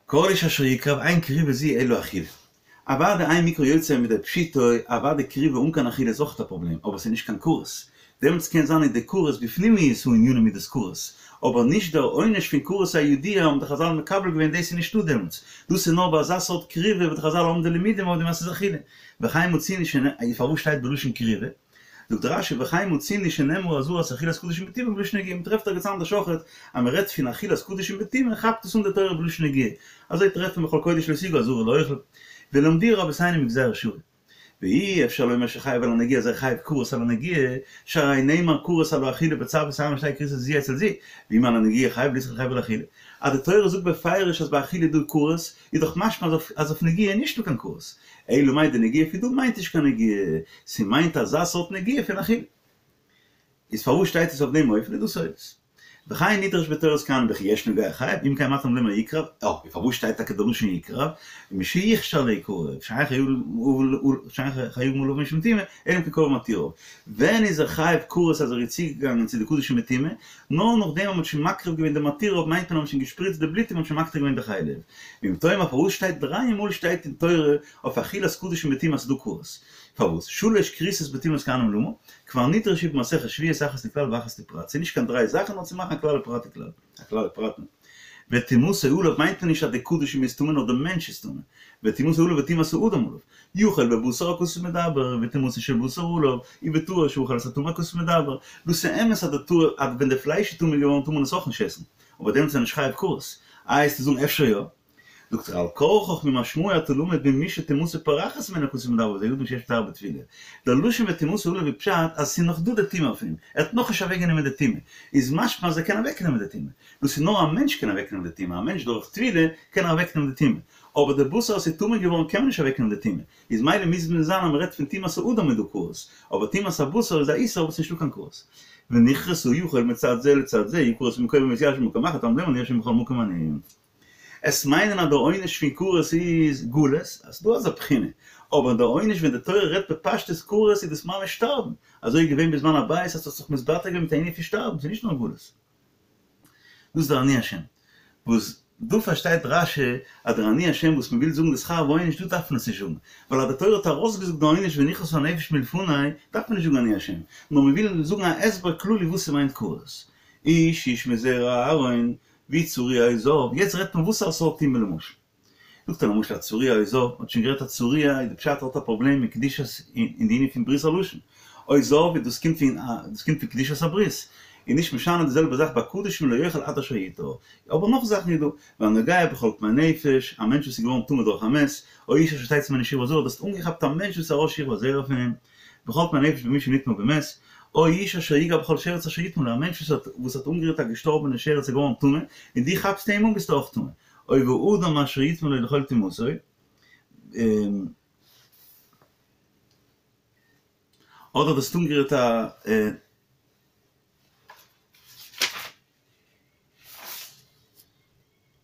כל איש אשר יקרב אין קריבה זו אלא אכילה. אוודאי אין מקרא יוצא מידי פשוטו, אוודאי קריבה אן קיין אכילה איז אויך א פראבלעם, אבער ס'איז נישט קיין כרת. דעמאלטס קען זיין איז די כרת בפנימיות הענינים איז דאס כרת, אבער נישט דער עונש פון כרת הידוע האבן די חזל מקבל געווען דאס איז נישטא דעמאלטס, דאס איז נאר ביי אזא סארט קריבה וואס די חזל האבן די לימודים אויף דעם אז ס'איז אכילה. וכן מצינו שנ ע פארוואס שטייט בלשון קריבה? זאגט רשי וכן מצינו שנאמרה אזהרת אכילת קדשים בטומאה בלשון נגיעה, מ'טרעפט ערגעץ אנדערש אויכעט אז מ'רעדט פון אכילת קדשים בטומאה כאפט עס אן די תורה בלשון נגיעה, אזוי טרעפט מען בכל קודש לא תגעו אזהרה לאוכל, ולמדוהו רבותינו מגזירה שוה. ואי אפשר לומר שחייב על הנגיעה אז ער חייב כרת על הנגיעה, שהרי נאמר כרת על האכילה בצו את אהרן שתהא כריתת זו אצל זו, ואם על הנגיעה חייב לא צריך לחייב על האכילה. אז די תורה זאגט בפירוש אז ביי אכילה איז דא כרת, איז דאך משמע אז אויף נגיעה איז נישטא קיין כרת. אלא מאי די נגיעה פון דא מיינט נישט קיין נגיעה, ס'מיינט אזא סארט נגיעה פון אכילה. איז פארוואס שטייט עס אויף דעם אופן איז דא סודות. וכן נדרש בתורת כהנים וכי יש נוגע חייב, אם כן מה תלמוד לומר יקרב, אה, און פארוואס שטייט טאקע די לשון יקרב, משיוכשר ליקרב, שאין חייבין עליו משום טומאה, אלא אם כן קרבו מתיריו. ווען איז ער חייב כרת אז ער איז צוגעגאנגען צו די קדשים בטומאה? נאר נאכדעם אז מ'האט שוין מקריב געווען די מתיריו מיינט מען אז מ'האט שוין געשפריצט די בלוט און מ'האט שוין מקטיר געווען די חלב. ואם תאמר פארוואס שטייט דריי מאל שטייט אין תורה אויף אכילת קדשים בטומאה אז ס'דא כרת? פארוואס? שלש כריתות בטומאת כהנים למה? כבר נדרשו במסכת שבועות אחת לכלל ואחת לפרט, ס'איז נישט קיין דריי זאכן נאר צו מאכן א כלל ופרט וכלל, א כלל ופרט. וטומאתו עליו מיינט מען נישט אז די קדשים איז טמא נאר די מענטש איז טמא, וטומאתו עליו וטומאת האדם עליו, יכול בבשר הכתוב מדבר, וטומאתו של בשר עליו, ובטהור שאכל את הטמא הכתוב מדבר, דאס איז אמת אז די טהור אז ווען די פלייש איז טמא געווארן טאר מען עס אויך נישט עסן, אבער דעמאלטס איז ער נישט חייב כרת, איי וועסטו זאגן אפשר יא? זאגט ער על כרחך ממשמעו אתה למד ממי שטומאתו פורחת ממנו הכתוב מדבר וזהו אדם שיש לטהר בטבילה. דער לשון וטומאתו עליו איז פשט אז ס'איז נאך דא די טומאה אויף אים, ער האט נאכנישט אוועקגענומען די טומאה, איז משמע אז ער קען אוועקנעמען די טומאה. דאס איז נאר א מענטש קען אוועקנעמען די טומאה, א מענטש דורך טבילה קען ער אוועקנעמען די טומאה, אבער די בשר אז ס'איז טמא געווארן קען מען נישט אוועקנעמען די טומאה, איז מילא מוז מען זיין אז מ'רעדט פון טומאת האדם איז דא כרת, אבער טומאת הבשר איז א איסור וואס נישטא קיין כרת. ונכרתה יכול מצד זה לצד זה, יכרת במקומו ויתיישב במקום אחר, תלמוד לומר אני ה' בכל מקום אני. עס מיינען אז דער עונש פון כרת איז גלות, אז ס'דא אזא בחינה, אבער דער עונש ווען די תורה רעדט בפשטות כרת איז דאס ממש שטארבן, אזוי איז געווען בזמן הבית אז ס'האט זיך מתבטא געווען מיט א ענין פון שטארבן, ס'איז נישט נאר גלות. דאס איז דער אני השם. וואס דא פארשטייט רש"י אז דער אני השם וואס מ'וויל זאגן די שכר ועונש דא דארף מען עס נישט זאגן, ווייל אז די תורה האט ארויסגעזאגט די עונש ונכרתה הנפש מלפני דארף מען נישט זאגן אני השם, נאר מ'וויל זאגן א הסבר כללי וואס ס'מיינט כרת. איש איש מזרע אהרן ווי צרוע או זב, יעצט רעדט מען וואס א סארט טומאה למשל. זאגט ער למשל א צרוע או זב, מ'האט שוין גערעדט א צרוע איז די פשט ער האט א פראבלעם מיט קדושת אין די ענין פון ברית הלשון, או זב איז דאס קומט פון דאס קומט פון קדושת הברית, איז נישט משנה די זעלבע זאך ביי קדשים לא יאכל עד אשר יטהר, אבער נאך זאכן איז דא, והנוגע בכל טמא נפש, א מענטש וואס איז געווארן טמא דורך א מת, או איש אשר תצא ממנו שכבת זרע, דו האסט אנגעכאפט א מענטש וואס איז ארויס שכבת זרע פון אים, בכל טמא נפש במי שנטמא במת, או איש אשר יגע בכל שרץ אשר יטמא לו, א מענטש וואס האט וואס האט אנגערירט א געשטארבענע שרץ איז געווארן טמא, און דו כאפסט אים אן ביסטו אויך טמא, או והאדם אשר יטמא לו לכל טומאתו, אדער דו האסט אנגערירט א.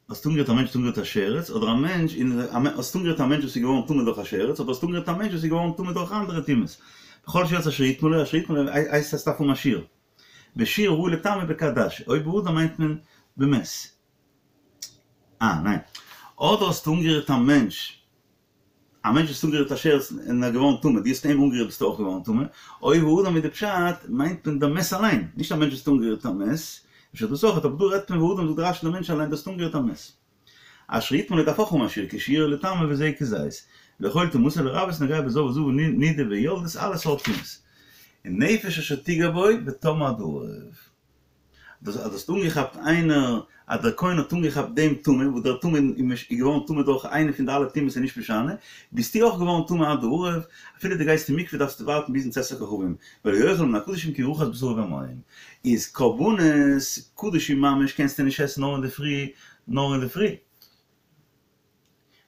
האסט אנגערירט א מענטש האט אנגערירט א שרץ, אדער א מענטש און האסט אנגערירט א מענטש וואס איז געווארן טמא דורך א שרץ, אדער האסט אנגערירט א מענטש וואס איז געווארן טמא דורך אנדערע טומאות. בכל שרץ אשר יטמא לו, אשר יטמא לו הייסט אז ס'דארף האבן א שיעור. ושיעור הראוי לטמא בכעדשה, או באדם מיינט מען במת. אה, ניין. אדער האסטו אנגערירט א מענטש. א מענטש וואס האט אנגערירט א שרץ און ער איז געווארן טמא, דו האסט אים אנגערירט ביסטו אויך געווארן טמא, או האדם איז די פשט, מיינט מען דער מת אליין, נישט א מענטש וואס האט אנגערירט א מת, אפשר דאס אויך, אבער דא רעדט מען והאדם זאגט רש"י דער מענטש אליין, דו האסט אנגערירט א מת. אשר יטמא לו דארף אויך האבן א שיעור, כי שיעור לטמא וזה כזית. לכל טומאתו לרבות נוגע בזב וזבה נידה ויולדת אלע סארט טומאות. און נפש אשר תגע בו וטמא עד הערב. דאס אז דו האסט אנגעכאפט איינער, אז דער כהן האט אנגעכאפט דעם טמא, וואס דער טמא איז געווארן טמא דורך איינע פון די אלע טומאות איז נישט משנה, ביסטו אויך געווארן טמא עד הערב, אפילו דו גייסט אין מקווה דארפסטו ווארטן ביזן צאת הכוכבים, ולא יאכל מן הקדשים כי רחץ בשרו במים. איז קרבנות קדשים ממש קענסטו נישט עסן נאר אינדערפרי, נאר אינדערפרי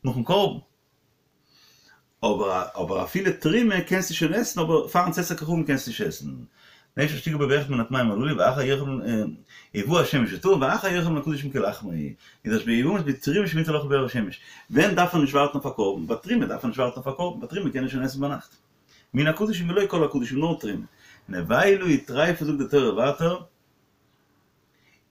נאכן קרבן. אבער אבער אפילו תרומה קענסטו שוין עסן אבער פארן צאת הכוכבים קענסטו נישט עסן. נפש אשר תגע בו באחד מן הטמאים הללו ואחר יאכל ובא השמש וטהר ואחר יאכל מן הקדשים כי לחמו איז דאס ביבמות בתרומה שמותר לאכול בערב השמש. ווען דארף מען נישט ווארטן אויף א קרבן? ביי תרומה דארף מען נישט ווארטן אויף א קרבן, ביי תרומה קען מען שוין עסן ביינאכט. מן הקדשים ולא כל הקדשים נאר תרומה. נבילה וטריפה זאגט די תורה ווייטער.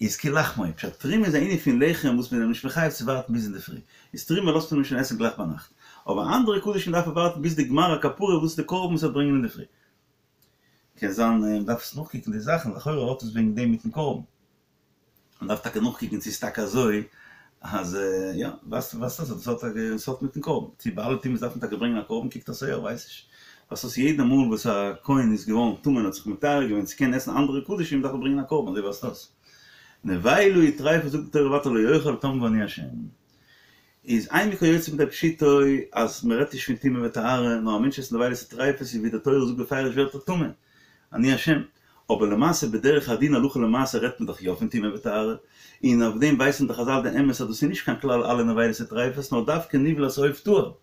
איז כי לחמו, פשט תרומה איז א ענין פון לחם וואס מען איז נישט מחויב צו ווארטן ביז אינדערפרי, איז תרומה לאזט מען אים שוין עסן גלייך ביינאכט, אבער אנדערע קדשים דארף ער ווארטן ביז די גמר הכפרה וואס איז די קרבן וואס ער וועט ברענגען אינדערפרי. קען זיין מען דארף עס נאכקוקן די זאכן, לכאורה האט עס וועגן דעם מיטן קרבן. מען דארף טאקע נאכקוקן צו ס'איז טאקע אזוי אז יא, ווייסט ווייסט אז עס האט עס האט מיטן קרבן, צו ביי אלע טומאות דארף מען טאקע ברענגען א קרבן, קוקט אויס יא, ווייס נישט. ווייסט אויס יעדע מאל וואס א כהן איז געווארן טמא און האט זיך מטהר געווען צו קענען עסן אנדערע קדשים דארף ער ברענגען א קרבן, אזוי ווייזט אויס. נבילה וטריפה זאגט די תורה ווייטער לא יאכל טמאו אני השם. איז אין מקרא יוצא מידי פשוטו אז מען רעדט נישט פון טומאה וטהרה נאר א מענטש עסט נבילות וטריפות איז ווי די תורה זאגט בפירוש ווערט ער טמא, אני השם. אבער למעשה בדרך הדין הלכה למעשה רעדט מען דאך יא פון טומאה וטהרה, און אויף דעם ווייסן די חזל די אמת אז דאס איז נישט קיין כלל אלע נבילות וטריפות נאר דווקא נבלת עוף טהור.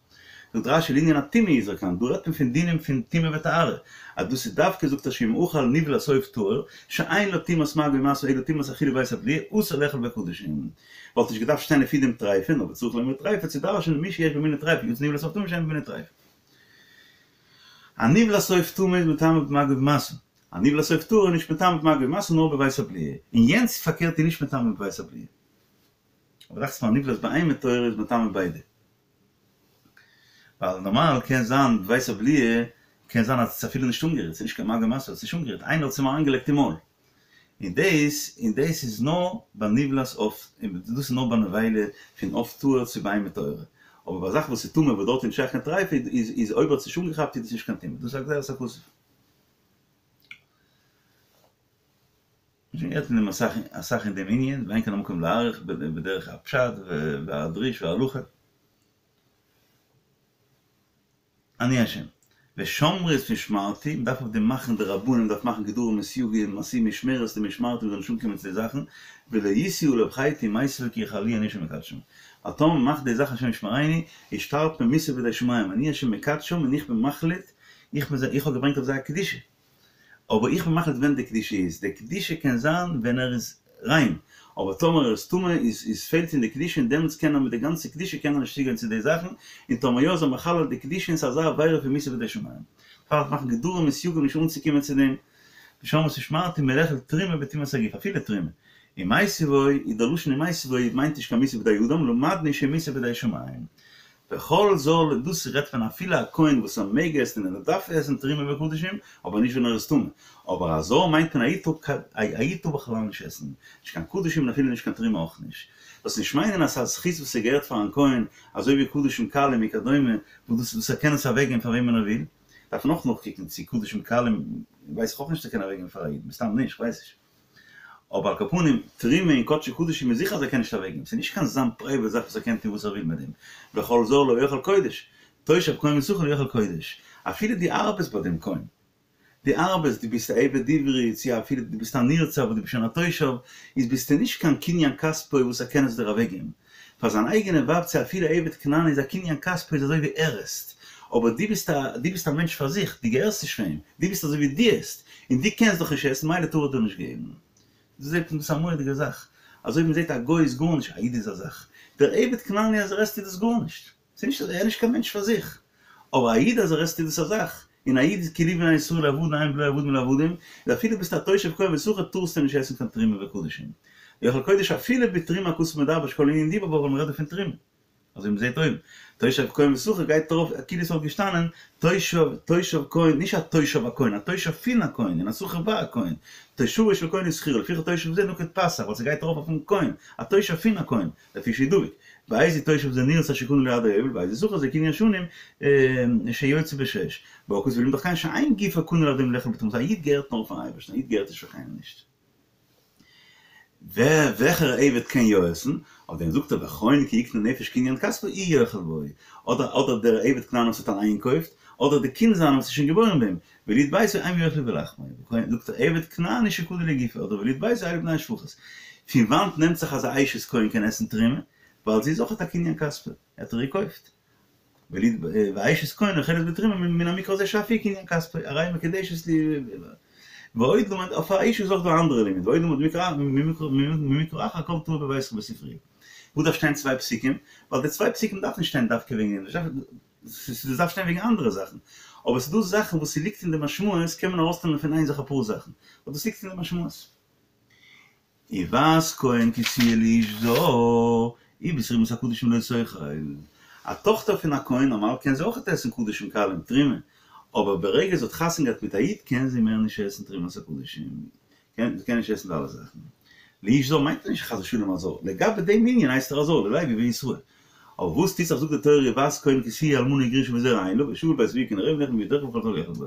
זאגט רשי לענין הטומאה איז כאן, דא רעדט מען פון דינים פון טומאה וטהרה, אז דאס איז דווקא זאגט רשי אם אכל נבלת עוף טהור, שאין לה טומאת מגע ומשא אלא טומאת אכילה בבית הבליעה, אסור לאכול בקדשים. וואלט נישט געדארפט שטיין לפי דעם טריפה, נאר וצריך לומר טריפה צו דרש'נען מי שיש בו מיני טריפה יצא נבלת עוף טמא שאין בו מיני טריפה. א נבלת עוף טמא איז מטמא במגע ובמשא. א נבלת עוף טהור איז נישט מטמא במגע ומשא נאר בבית הבליעה. און יענץ פארקערט איז נישט מטמא בבית הבליעה. אבער דאכט זיך מיר א נבלת בהמה טהורה איז מטמא ביידע. ווייל נארמאל קען זיין בבית הבליעה קען זיין אז עס איז אפילו נישט אנגערירט, עס איז נישט קיין מגע ומשא, עס איז נישט אנגערירט, איינער האט עס אים אריינגעלייגט אין מויל. און דאס און דאס איז נאר ביי נבלת עוף, און דאס איז נאר ביי נבילה פון עוף טהור צו בהמה טהורה. אבער ביי א זאך וואס איז טמא וואס דארט איז נישט שייך קיין טריפה איז איז אויב האט עס נישט אנגעכאפט איז דאס נישט קיין טומאה. דאס איז א גזירת הכתוב. שוין גערעדט אין דעם אסאך אסאך אין דעם ענין, ואין כאן המקום להאריך בדרך הפשט והדרוש וההלכה. אני השם. ושמרו את משמרתי, מ'דארף אויף דעם מאכן די רבנים מ'דארף מאכן גדרים און סייגים, עשו משמרת למשמרתי מ'זאל נישט אנקומען צו די זאכן, ולא ישאו עליו חטא ומתו בו כי יחללוהו אני השם מקדשם. ווייל טאמער מ'מאכט די זאכן השם ישמרינו, איז שטארבט מען מיתה בידי שמים, אני השם מקדשם און איך בין מחליט, איך בין זיי, איך האב געברענגט אויף זיי א קדושה. אבער איך בין מחליט ווען די קדושה איז, די קדושה קען זיין ווען ער איז ריין, אבער טאמער ער איז טמא איז איז פעלט אין די קדושה און דעמאלטס קען ער מיט די גאנצע קדושה קען ער נישט צוגיין צו די זאכן, און טאמער יא איז ער מחלל די קדושה און ס'איז אזא עבירה פון מיתה בידי שמים. דערפאר מאכן גדרים און סייגים נישט אנצוקומען צו דעם, ושמרו את משמרתי מלאכול תרומה בטומאת הגוף, אפילו תרומה. ומתו בו, איז דער לשון ומתו בו מיינט נישט קיין מיתה בידי אדם, למדנו שמיתה בידי שמים. וכל זר, דאס רעדט פון אפילו א כהן וואס ער מעג עסן און ער דארף עסן תרומה וקדשים, אבער נישט ווען ער איז טמא. אבער א זר מיינט מען א איד טאר א איד טאר בכלל נישט עסן, נישט קיין קדשים און אפילו נישט קיין תרומה אויך נישט. זאלסט נישט מיינען אז ס'איז א זכות וואס ס'געהערט פארן כהן, אזוי ווי קדשים קלים וכדומה, וואס דאס וואס ער קען עס אוועקגעבן פאר וועמען ער וויל. דארף מען אויך נאכקוקן צו קדשים קלים ווייס איך אויך נישט צו ער קען אוועקגעבן פאר א איד, מסתם נישט, כ'ווייס נישט. אבער על כל פנים, תרומה און קדשי קדשים איז זיכער אז ער קען נישט אוועקגעבן, ס'איז נישט קיין זיין פרייוועט זאך וואס ער קען טון וואס ער וויל מיט דעם, וכל זר לא יאכל קודש, תושב כהן ושכיר לא יאכל קודש, אפילו דו ארבעסט ביי דעם כהן, דו ארבעסט, דו ביסט א עבד עברי, צו אפילו דו ביסט א נרצע אבער דו ביסט שוין א תושב, איז ביסטו נישט קיין קניין כספו וואס ער קען עס דיר אוועקגעבן. פאר זיין אייגענע ווייב צו אפילו עבד כנעני איז א קניין כספו איז אזוי ווי ער עסט, אבער דו ביסט א דו ביסט א מענטש פאר זיך, דו געהערסט נישט פאר אים, דו ביסט אזוי ווי דו עסט, און דו קענסט דאך נישט עסן מילא טאר ער דיר נישט געבן. דא זעט מען דאס איז א מורא'דיגע זאך, אזוי ווי מען זעט א גוי איז גארנישט, א איד איז א זאך, דער עבד כנעני אז ער עסט איז דאס גארנישט, ס'איז נישט ער איז נישט קיין מענטש פאר זיך, אבער א איד אז ער עסט איז דאס א זאך, און א איד איז כי לי בני ישראל עבדים הן ולא עבדים לעבדים, איז אפילו ביסט א תושב כהן ושכיר טארסטו נישט עסן קיין תרומה וקדשים. יאכל קודש אפילו בתרומה הכתוב מדבר שכל ענין דיבור בה ווייל מ'רעדט דא פון תרומה. אזוי ווי מ'זעט אויבן. תושב כהן ושכיר גייט ארויף כאילו ס'וואלט געשטאנען תושב תושב כהן נישט א תושב הכהן א תושב פון א כהן און א שכיר ביי א כהן. תושבו של כהן ושכירו לפיכך תושב זה נקוט פתח ווייל ס'גייט ארויף אויפן כהן א תושב פון א כהן. לפי שהוא דבוק. ואיזה תושב זה נרצע שקנה לו עד היובל, ואיזה שכיר זה קנין שנים שיוצא בשש. בא הכתוב ולימד כן שאין גופו קנוי על ידם לאכול בטומאה, א איד געהערט נאר פארן אייבערשטן, א איד געהערט נישט פאר קיינעם נישט. ווער, וועלכער עבד קען יא עסן? אויף דעם זאגט ער וכהן כי יקנה נפש קנין כספו הוא יאכל בו, אדער אדער דער עבד כנעני וואס האט אליין געקויפט, אדער די קינד זיינע וואס איז שוין געבוירן ביי אים, ויליד ביתו הם יאכלו בלחמו, זאגט ער עבד כנעני שקנה לגופו, אדער ויליד ביתו אלו בני השפחות. פון וואנט נעמט זיך אז א אשת כהן קען עסן תרומה? ווייל זי איז אויכעט א קנין כספו, ער האט איר געקויפט. וליד ואשת כהן אוכלת בתרומה מן המקרא הזה שאף היא קנין כספו, הרי היא מקודשת לי ועוד למד, אויף א אשה איז אויך דא א אנדערע לימוד, ועוד למד ממקרא אחר כל טמא בביתך בספרי. וואס דארף שטיין צוויי פסוקים? ווייל די צוויי פסוקים דארף נישט שטיין דווקא וועגן דעם, ס'דארף שטיין וועגן אנדערע זאכן, אבער ס'דא זאכן וואס ס'ליגט אין די משמעות קען מען ארויסנעמען פון איין זאך אפאר זאכן, ווייל דאס ליגט אין די משמעות. ובת כהן כי תהיה לאיש זר, ובתרומת הקדשים לא תאכל. א טאכטער פון א כהן נארמאל קען זי אויכעט עסן קדשים קלים, תרומה, אבער ברגע זי האט חתונה געהאט מיט א איד קען זי מער נישט עסן תרומת הקדשים, זי קען נישט עסן די אלע זאכן. לאיש זר מיינט נישט חס ושלום א זר, לגבי דעם ענין הייסט ער א זר, ללוי ולישראל. אבער וואס טוט זיך זאגט די תורה ובת כהן כי תהיה אלמנה וגרושה וזרע אין לה ושבה אל בית אביה כי נעריה ונאכלה מאיש וכל זר לא יאכל בה.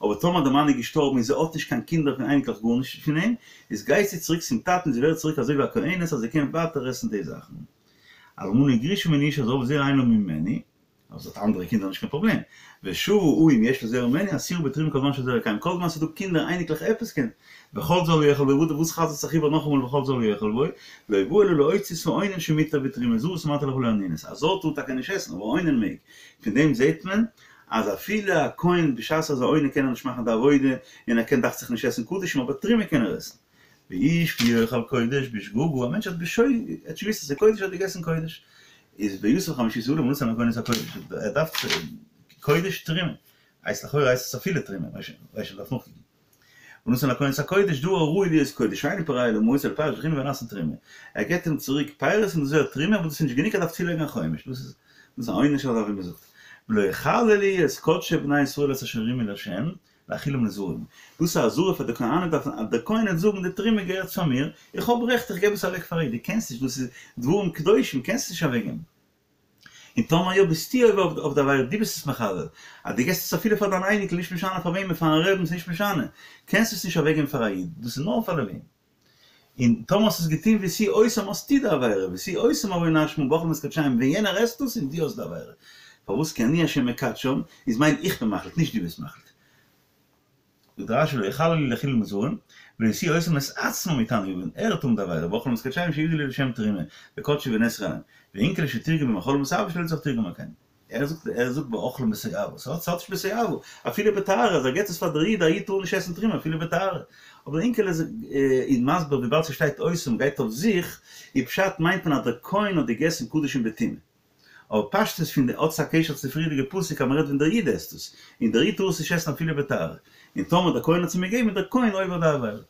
אבער טאמער די מאן איז געשטארבן און זי האט נישט קיין קינדער פון אייניקלעך גארנישט פון אים, איז גייט זי צוריק צום טאטן זי ווערט צוריק אזוי ווי א כהנת אז זי קען ווייטער עסן די זאכן. אלמנה וגרושה מן האיש הזר וזרע אין לה ממנו, אבער זי האט אנדערע קינדער נישט קיין פראבלעם. ושבה הוא אם יש לה זרע ממנו אסורה בתרומה כל זמן שזרע קיים כל זמן ס'איז דא קינדער אייניקלעך עפעס קען וכל זר לא יאכל בו וואס חזר'ט זיך איבער נאכאמאל וכל זר לא יאכל בו לא בא אלא להוציא את האונן שמותר בתרומה זרות אמרתי לך לא אנינות א זר טאר טאקע נישט עסן אבער אונן מעג פון דעם זעהט מען אז אפילו א כהן בשעת ער איז א אונן קען ער נישט מאכן די עבודה און ער קען דאכט זיך נישט עסן קדשים אבער תרומה קען ער עסן ואיש כי יאכל קודש בשגגה, א מענטש האט בשוגג, ער האט נישט געוואוסט אז ס'איז קודש האט געגעסן קודש, איז ויסף חמישית עליו ונתן לכהן את הקודש, ער דארף קודש תרומה, הייסט לכאורה הייסט עס אפילו תרומה, ווייס נישט מ'דארף נאכקוקן, ונתן לכהן את הקודש דבר הראוי להיות קודש, שאינו פורע אלא ממעות אלא פירות וכו' ונעשין תרומה, ער געבט אים צוריק פירות און דאס ווערט תרומה אבער דאס איז נישט גענוג ער דארף צולייגן א חומש, דאס איז א עונש אזוי ווי מ'זאגט, ולא יחללו את קדשי בני ישראל את אשר הרימו לה', להאכילם לזרים. דאס איז א אזהרה פאר די כהנים דארפן אז דער כהן וועט זאגן די תרומה געהערט פאר מיר, איך האב רעכט איך געב עס אוועק פאר א איד, דו קענסט נישט דאס איז דברים קדושים קענסט עס נישט אוועק געבן. און טאמער יא ביסטו עובר אויף די עבירה דו ביסט עס מחלל, אז דו געסט עס אפילו פאר דיין אייניקל נישט משנה פאר וועמען פארן רעבן ס'נישט משנה, קענסט עס נישט אוועק געבן פאר א איד, דאס איז נאר פאר לווים. און טאמער האסט עס געטון והשיאו אותם האסטו די עבירה, והשיאו אותם עון האשמה באכלם את קדשיהם ווען יענער עסט דאס און דו האסט די עבירה. פארוואס כי אני השם מקדשם איז מיינט איך בין מחליט נישט דו ביסט מחליט. זאגט רש"י לא יחללו להאכילם לזרים, ולא השיאו אותם את עצמם יתנו עון, ער וועט האבן די עבירה, באכלם את קדשיהם שהובדלו לי לשם תרומה, וקדשו ונאסרו עליהם. ואונקלוס שתרגם במאכלם בתאווה שלא לצורך תרגמה כן. ער זאגט ער זאגט באכלם בתועבה, ס'האט ס'האט נישט בתועבה, אפילו בטהרה, אז ער געט עס פאר דער איד, א איד טאר נישט עסן תרומה אפילו בטהרה. אבער אונקלוס איז מסביר וויבאלד ס'שטייט אותם גייט אויף זיך, איז פשט מיינט מען אז דער כהן האט געגעסן קדשים בטומאה. אבער פשטות פון די האט עס א קשר צו די פריערדיגע פסוק אז מ'רעדט ווען דער איד עסט עס, און דער איד טאר עס נישט עסן אפילו בטהרה. און טאמער דער כהן האט עס אים געגעבן איז דער כהן עובר די עבירה.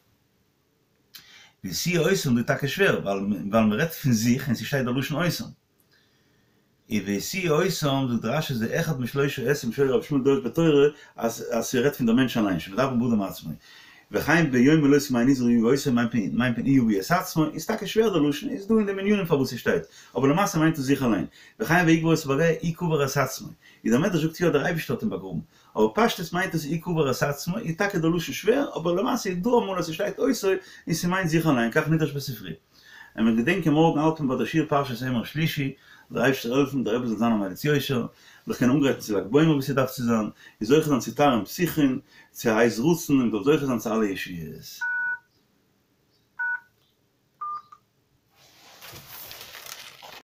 והשיאו אותם דא איז טאקע שווער, ווייל מ'רעדט פון זיך און ס'שטייט דער לשון אותם. און והשיאו אותם זאגט רש"י זה אחד משלושה עשים שהיה רבי ישמעאל דורש בתורה אז אז ס'רעדט פון דער מענטש אליין שמדבר באדם עצמו וכן ביום מלאת ימי נזרו יביא אותם מיינט מען הוא יביא את עצמו איז טאקע שווער דער לשון איז דא אין דעם ענינים פארוואס ס'שטייט אבער למעשה מיינט עס זיך אליין וכן ויקבור אותו בגיא הוא קבר את עצמו איז דער מדרש זאגט יא דער אייבערשטער האט אים באגראבן אבער פשטות מיינט עס הוא קבר את עצמו איז טאקע דער לשון שווער אבער למעשה איז דא אמאל אז ס'שטייט אותו און ס'מיינט זיך אליין כך נדרש בספרי. און מיר געדענקען מארגן האלט מען ביי די שיעור פרשת אמור שלישי, זאל דער אייבערשטער העלפן דער רבי זאל זיין א מליץ יושר, זיך קענען אנגרייטן צו ל"ג בעומר ווי ס'דארף צו זיין, און זוכה זיין צו תרעין פתיחין, צו א עת רצון, און מ'זאל זוכה זיין צו אלע ישועות.